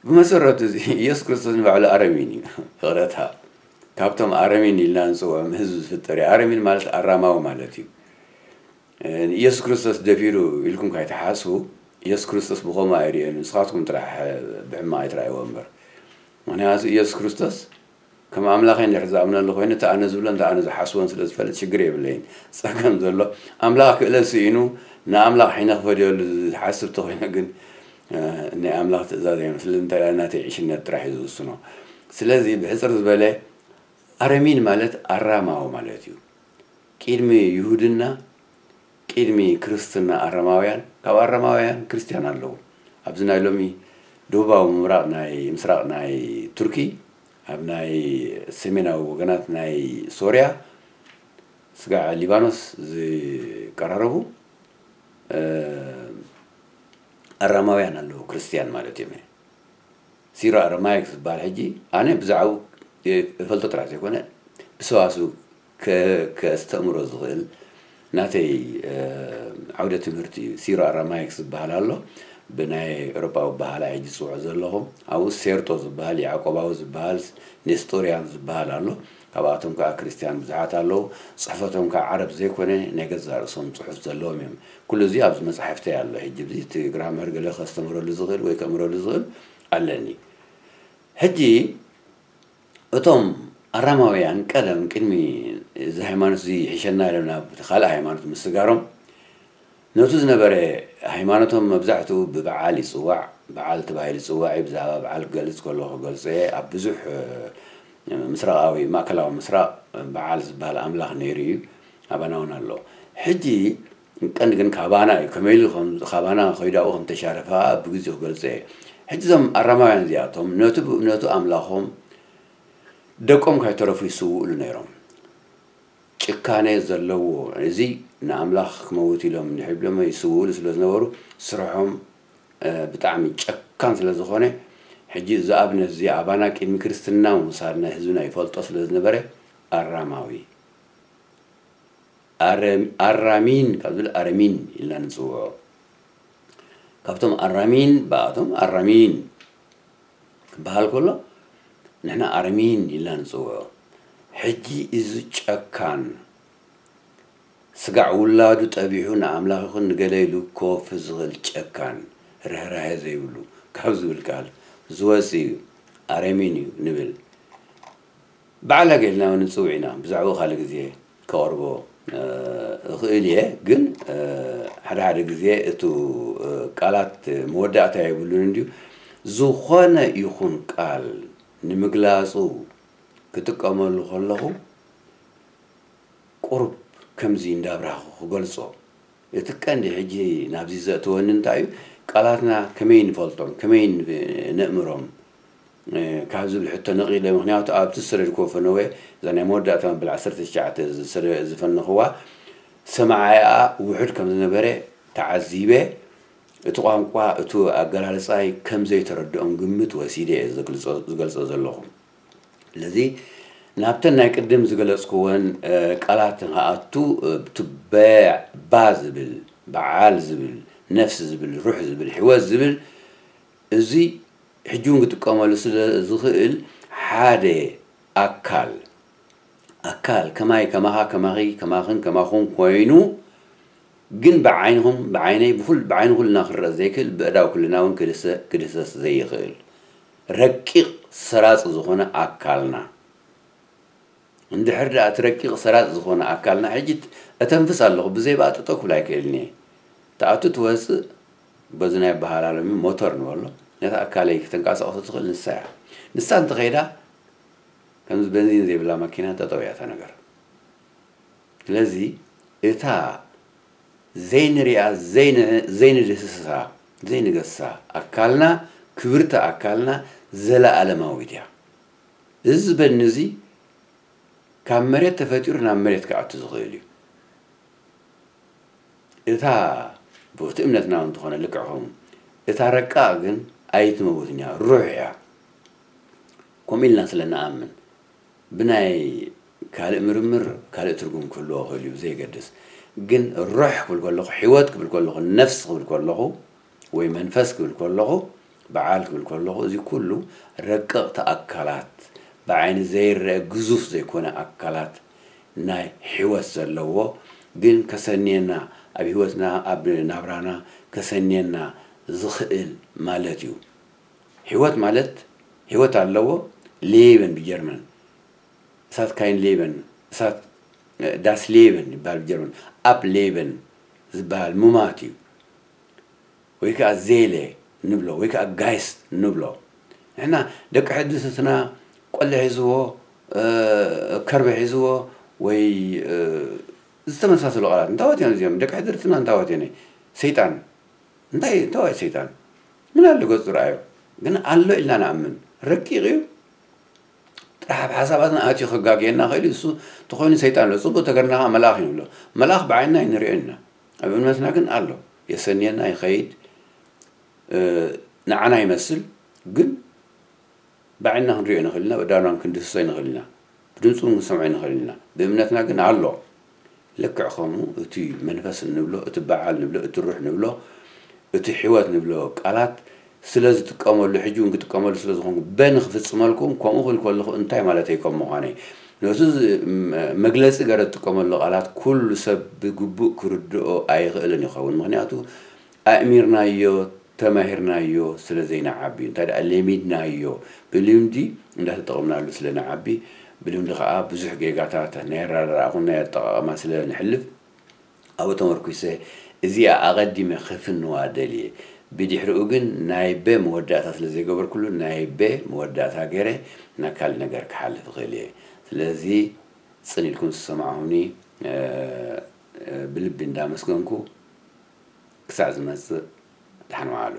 ብመሰረቱ እዚ ኢየሱስ ክርስቶስ ንባዕሉ ኣረሚን እዩ። ፍቕረታ ካብቶም ኣረሚን ኢልና ንፅውዖም ህዝቢ ዝፍጠር እዩ። ኣረሚን ማለት ኣራማዊ ማለት እዩ። ኢየሱስ ክርስቶስ ደፊሩ ኢልኩም ካይትሓስቡ፣ ኢየሱስ ክርስቶስ ብኸምኡ ኣይርእዮን። ንስኻትኩም ጥራሕ ብሕማቕ ኣይትረኣይዎ እምበር። ምኽንያቱ ኢየሱስ ክርስቶስ ከም ኣምላኸይ እንድሕር ዝኣምነሉ ኮይኑ፣ እቲ ኣነ ዝብሎን እቲ ኣነ ዝሓስቦን ስለ ዝፈልጥ ሽግር የብለይን። ጸገም ዘሎ ኣምላኽ ክእለት ስኢኑ ንኣምላኽ ሒነ ክፈድየሉ ዝሓስብ ተኾይነ ግን፣ እ፣ ናይ ኣምላኽ ትእዛዝ ኣይመስልን። እንታይ ደኣ ናተይ ዕሽነት ጥራሕ እዩ ዝውስኖ። ስለዚ ብሕጽር ዝበለ ኣረሚን ማለት ኣራማዊ ማለት እዩ። ቅድሚ ይሁድና፣ ቅድሚ ክርስትና ኣረማውያን፣ ካብ ኣረማውያን ክርስትያን ኣለዉ። ኣብዚ ናይ ሎሚ ደቡባዊ ምብራቕ ናይ፣ ምስራቕ ናይ ቱርኪ፣ ኣብ ናይ ሰሜናዊ ወገናት ናይ ሶርያ፣ ስጋዕ ሊባኖስ ዝቀራረቡ፣ እ፣ ኣራማውያን ኣለዉ፣ ክርስትያን ማለት እዮም። ሲሮ ኣረማይክ ዝበሃል ሕጂ ኣነ ብዛዕባኡ እፈልጦ ጥራሕ ዘይኮነ ብሰዋስው ከ-፣ ከስተእምሮ ዝኽእል ናተይ፣ እ፣ ዓውደ ትምህርቲ እዩ። ሲሮ ኣረማይክ ዝበሃል ኣሎ፣ ብናይ ኤውሮጳዊ በሃላይ ሕጂ ዝጽውዖ ዘለኹ። ኣብኡ ሴርጦ ዝበሃል፣ ያዕቆባዊ ዝበሃል፣ ኔስጦርያን ዝበሃል ኣሎ። ካብኣቶም ከኣ ክርስትያን ብዙሓት ኣለዉ። ጽሕፈቶም ከኣ ዓረብ ዘይኮነ ናይ ገዛእ ርእሶም ጽሑፍ ዘለዎም እዮም። ኩሉ እዚ ኣብዚ መጻሕፍተይ ኣሎ። ሕጂ እዚ እቲ ግራመር ገለ ከስተምረሉ ዝኽእል ወይ ከእምረሉ ዝኽእል ኣለኒ። ሕጂ እቶም ኣራማውያን ቀደም ቅድሚ እዚ ሃይማኖት እዚ ይሕሸና ኢሎም ናብ እቲ ካልእ ሃይማኖት ምስጋሮም፣ ነቱ ዝነበረ ሃይማኖቶም መብዛሕትኡ ብበዓል ይጽዋዕ። በዓል ተባሂሉ ይጽዋዕ እዩ። ብዛዕባ በዓል ክገልጽ ከለኹ ክገልጾ እየ። ኣብ ብዙሕ፣ እ፣ ምስራቓዊ፣ ማእከላዊ ምስራቕ በዓል ዝበሃል ኣምላኽ ነይሩ እዩ። ኣባና እውን ኣሎ። ሕጂ ቀንዲ ግን ካባና እዩ። ከመይ ኢሉ ከም፣ ካባና ከይዱ ኣብኡ ከም ተሻረፈ ብግዜኡ ክገልጾ እየ። ሕጂ እዞም ኣራማውያን እዚኣቶም ነቱ፣ ነቱ ኣምላኾም ደቆም ከይተረፉ ይስውእሉ ነይሮም። ጭካኔ ዘለዎ፣ እዚ ንኣምላኽ ክመውት ኢሎም እንድሕር ኢሎም ይስውእሉ ስለ ዝነበሩ፣ ስርሖም፣ እ፣ ብጣዕሚ ጨካን ስለ ዝኾነ፣ ሕጂ እዚ ኣብነት እዚ ኣባና ቅድሚ ክርስትና ምውሳድና ህዝብና ይፈልጦ ስለ ዝነበረ፣ ኣራማዊ፣ ኣረ-፣ ኣራሚን ካብ ዝብል ኣረሚን ኢልና ንጽውዖ። ካብቶም ኣራሚን፣ ብኣቶም ኣራሚን ክበሃል ከሎ፣ ንሕና ኣረሚን ኢልና ንጽውዖ። ሕጂ እዚ ጨካን፣ ስጋዕ ውላዱ ጠቢሑ ንኣምላኽ ይኹን ንገለ ኢሉ ክወፍር ዝኽእል ጨካን፣ ርህራሄ ዘይብሉ፣ ካብ ዝብል ቃል ዝወጽእ እዩ፣ ኣረሚን እዩ ንብል። ባዕላገ ኢልና እውን ንጽውዕ ኢና። ብዛዕባኡ ካልእ ግዜ ከቕርቦ፣ እ፣ እኽእል እየ፣ ግን፣ እ፣ ሓደ ሓደ ግዜ እቱ፣ እ፣ ቃላት መወዳእታ የብሉን እንድዩ። ዝኾነ ይኹን ቃል ንምግላጹ ክጥቀመሉ ከለኹ፣ ቁሩብ ከምዚ እንዳብራህኩ ክገልጾ። እቲ ቀንዲ ሕጂ ናብዚ ዘእተወኒ እንታይ እዩ? ቃላትና ከመይ ንፈልጦም፣ ከመይ ን-፣ ነእምሮም፣ እ፣ ካብ ዝብል ሕቶ ነቒለ። ምኽንያቱ ኣብቲ ዝሰደድክዎ ፈነወ፣ እዛ ናይ መወዳእታ መበል ዓሰርተ ትሽዓተ ዝሰደ-፣ ዝፈነኽዋ ሰማዓይኣ ውሑድ ከም ዝነበረ ተዓዚበ። እቲ ቋንቋ፣ እቲ ኣገላልጻይ ከም ዘይተረድኦም ግምት ወሲደ እየ ዝገልጾ፣ ዝገልጾ ዘለኹ። ስለዚ ናብተን ናይ ቅድም ዝገለጽክወን፣ እ፣ ቃላት ንኽኣቱ፣ እ፣ እቲ በ-፣ ባ ዝብል፣ በዓል ዝብል፣ ነፍሲ ዝብል፣ ሩሕ ዝብል፣ ህይወት ዝብል፣ እዚ ሕጂ እውን ክጥቀመሉ ስለ ዝኽእል ሓደ ኣካል፣ ኣካል ከማይ፣ ከማኻ፣ ከማኺ፣ ከማኽን፣ ከማኹም ኮይኑ፣ ግን ብዓይንኹም፣ ብዓይነይ፣ ብኹል-፣ ብዓይኒ ኩልና ክረአ ዘይክእል፣ ብእዳው ኩልና እውን ክድሰ-፣ ክድህሰስ ዘይኽእል፣ ረቂቕ ሰራጺ ዝኾነ ኣካልና። እንድሕር ደኣ እቲ ረቂቕ ሰራጺ ዝኾነ ኣካልና፣ ሕጂ ት-፣ እተንፍስ ኣለኹ፣ ብዘይ ብኣ ጠጠው ክብል ኣይክእልን እየ። ትኣቱ ትወጽእ፣ በዚ ናይ በሃላለሚ ሞተር ንበሎ፣ ነታ ኣካለይ ክተንቀሳቕሶ ትኽእል ንሳ እያ። ንሳ እንተኸይዳ፣ ከምዚ በንዚን ዘይብላ መኪና ጠጠው እያ እታ ነገር። ስለዚ እታ ዘይንሪኣ፣ ዘይን-፣ ዘይንድህስሳ፣ ዘይንገሳ ኣካልና፣ ክብርቲ ኣካልና ዘለኣለማዊት እያ። እዚ በኒ እዚ ካብ መሬት ተፈጢሩ ናብ መሬት ክኣቱ ዝኽእል እዩ። እታ ብቲ እምነትና እውን እንተኾነ ልክዕ ከምኡ፣ እታ ረቃቕ ግን ኣይትመውትን እያ፣ ሩሕ እያ። ከምኡ ኢልና ስለ ንኣምን፣ ብናይ ካልእ ምርምር ካልእ ትርጉም ክህልዎ ይኽእል እዩ፣ ብዘየገድስ። ግን ሩሕ ክብል ከለኹ፣ ህይወት ክብል ከለኹ፣ ነፍሲ ክብል ከለኹ፣ ወይ መንፈስ ክብል ከለኹ፣ በዓል ክብል ከለኹ፣ እዚ ኩሉ ረቀቕቲ ኣካላት፣ ብዓይኒ ዘይረአ ግዙፍ ዘይኮነ ኣካላት ናይ ህይወት ዘለዎ፣ ግን ከሰንየና፣ ኣብ ህይወትና፣ ኣብ ናብራና ከሰንየና ዝኽእል ማለት እዩ። ህይወት ማለት፣ ህይወት ኣለዎ። ሌበን ብጀርመን፣ እሳት ካይን ሌበን፣ እሳት፣ እ፣ ዳስ ሌበን ይበሃል ብጀርመን። ኣፕ ሌበን ዝበሃል ሙማት እዩ። ወይ ከዓ ዜለ ንብሎ፣ ወይ ከዓ ጋይስት ንብሎ። ንሕና ደቂ ሕድስትና ቆሊ ሒዝዎ፣ እ፣ ከርበ ሒዝዎ፣ ወይ፣ እ፣ ዝተመሳሰሉ ቃላት። እንታወት እዮም እዚኦም? ደቂ ሕድርትና እንታወት እዮም? ሰይጣን። እንታይ፣ እንታወት ሰይጣን? ምን ኣሎ ገጹ ረኣዮ? ግን ኣሎ ኢልና ንኣምን። ረቂቕ እዩ። ጥራሕ ኣብ ሓሳባትና ኣትዩ ከጋግየና ኽእል እዩ። እሱ ተኾይኑ ሰይጣን ኣሎ። ጽቡቕ ተገርና ኸዓ መልኣኽ እዩ ንብሎ። መልኣኽ ብዓይንና ኣይንሪኦን ኢና። ኣብ እምነትና ግን ኣሎ። የሰንየና ይኸይድ። እ፣ ንዓና ይመስል፣ ግን ብዓይንና ክንሪኦ ንኽእል ኢና፣ ብኣእዳውና ክንድህስሶ ንኽእል ኢና፣ ብድምፁ እውን ክንሰምዖ ንኽእል ኢና። ብእምነትና ግን ኣሎ። ልክዕ ከምኡ እቲ መንፈስ እንብሎ፣ እቲ በዓል ንብሎ፣ እቲ ሩሕ ንብሎ፣ እቲ ሕይወት ንብሎ ቃላት ስለ ዝጥቀመሉ፣ ሕጂ እውን ክጥቀመሉ ስለ ዝኾንኩ፣ በ ንኽፍጽመልኩም ከምኡ ክብል ከለኹ እንታይ ማለተይ ከም ምዃነይ፣ ነቲ ዝ-፣ ም-፣ መግለጺ ገረ ዝጥቀመሉ ቃላት ኩሉ ሰብ ብግቡእ ክርድኦ ኣይኽእልን ይኸውን። ምኽንያቱ ኣእሚርናዮ፣ ተማሂርናዮ ስለ ዘይንዓቢ፣ እንታይ ደኣ ለሚድናዮ፣ ብልምዲ እንዳተጠቐምናሉ ስለ ንዓቢ፣ ብልምዲ ከኣ ብዙሕ ጌጋታት ናይ ኣረዳድኣ ኹን ናይ ኣጠቓቕማ ስለ ንሕልፍ፣ ኣብኡ ተመርኲሰ እዚኣ ኣቐዲመ ክፍንዋ ደልየ። ብድሕሪኡ ግን ናይ በ መወዳእታ ስለ ዘይገበርኩሉ፣ ናይ በ መወዳእታ ገይረ ናብ ካልእ ነገር ክሓልፍ እኽእል እየ። ስለዚ ጽን ኢልኩም ዝሰማዕኹምኒ፣ እ፣ እ፣ ብልቢ እንዳመስገንኩ፣ ክሳዕ ዝመጽእ ደሓን ወዓሉ።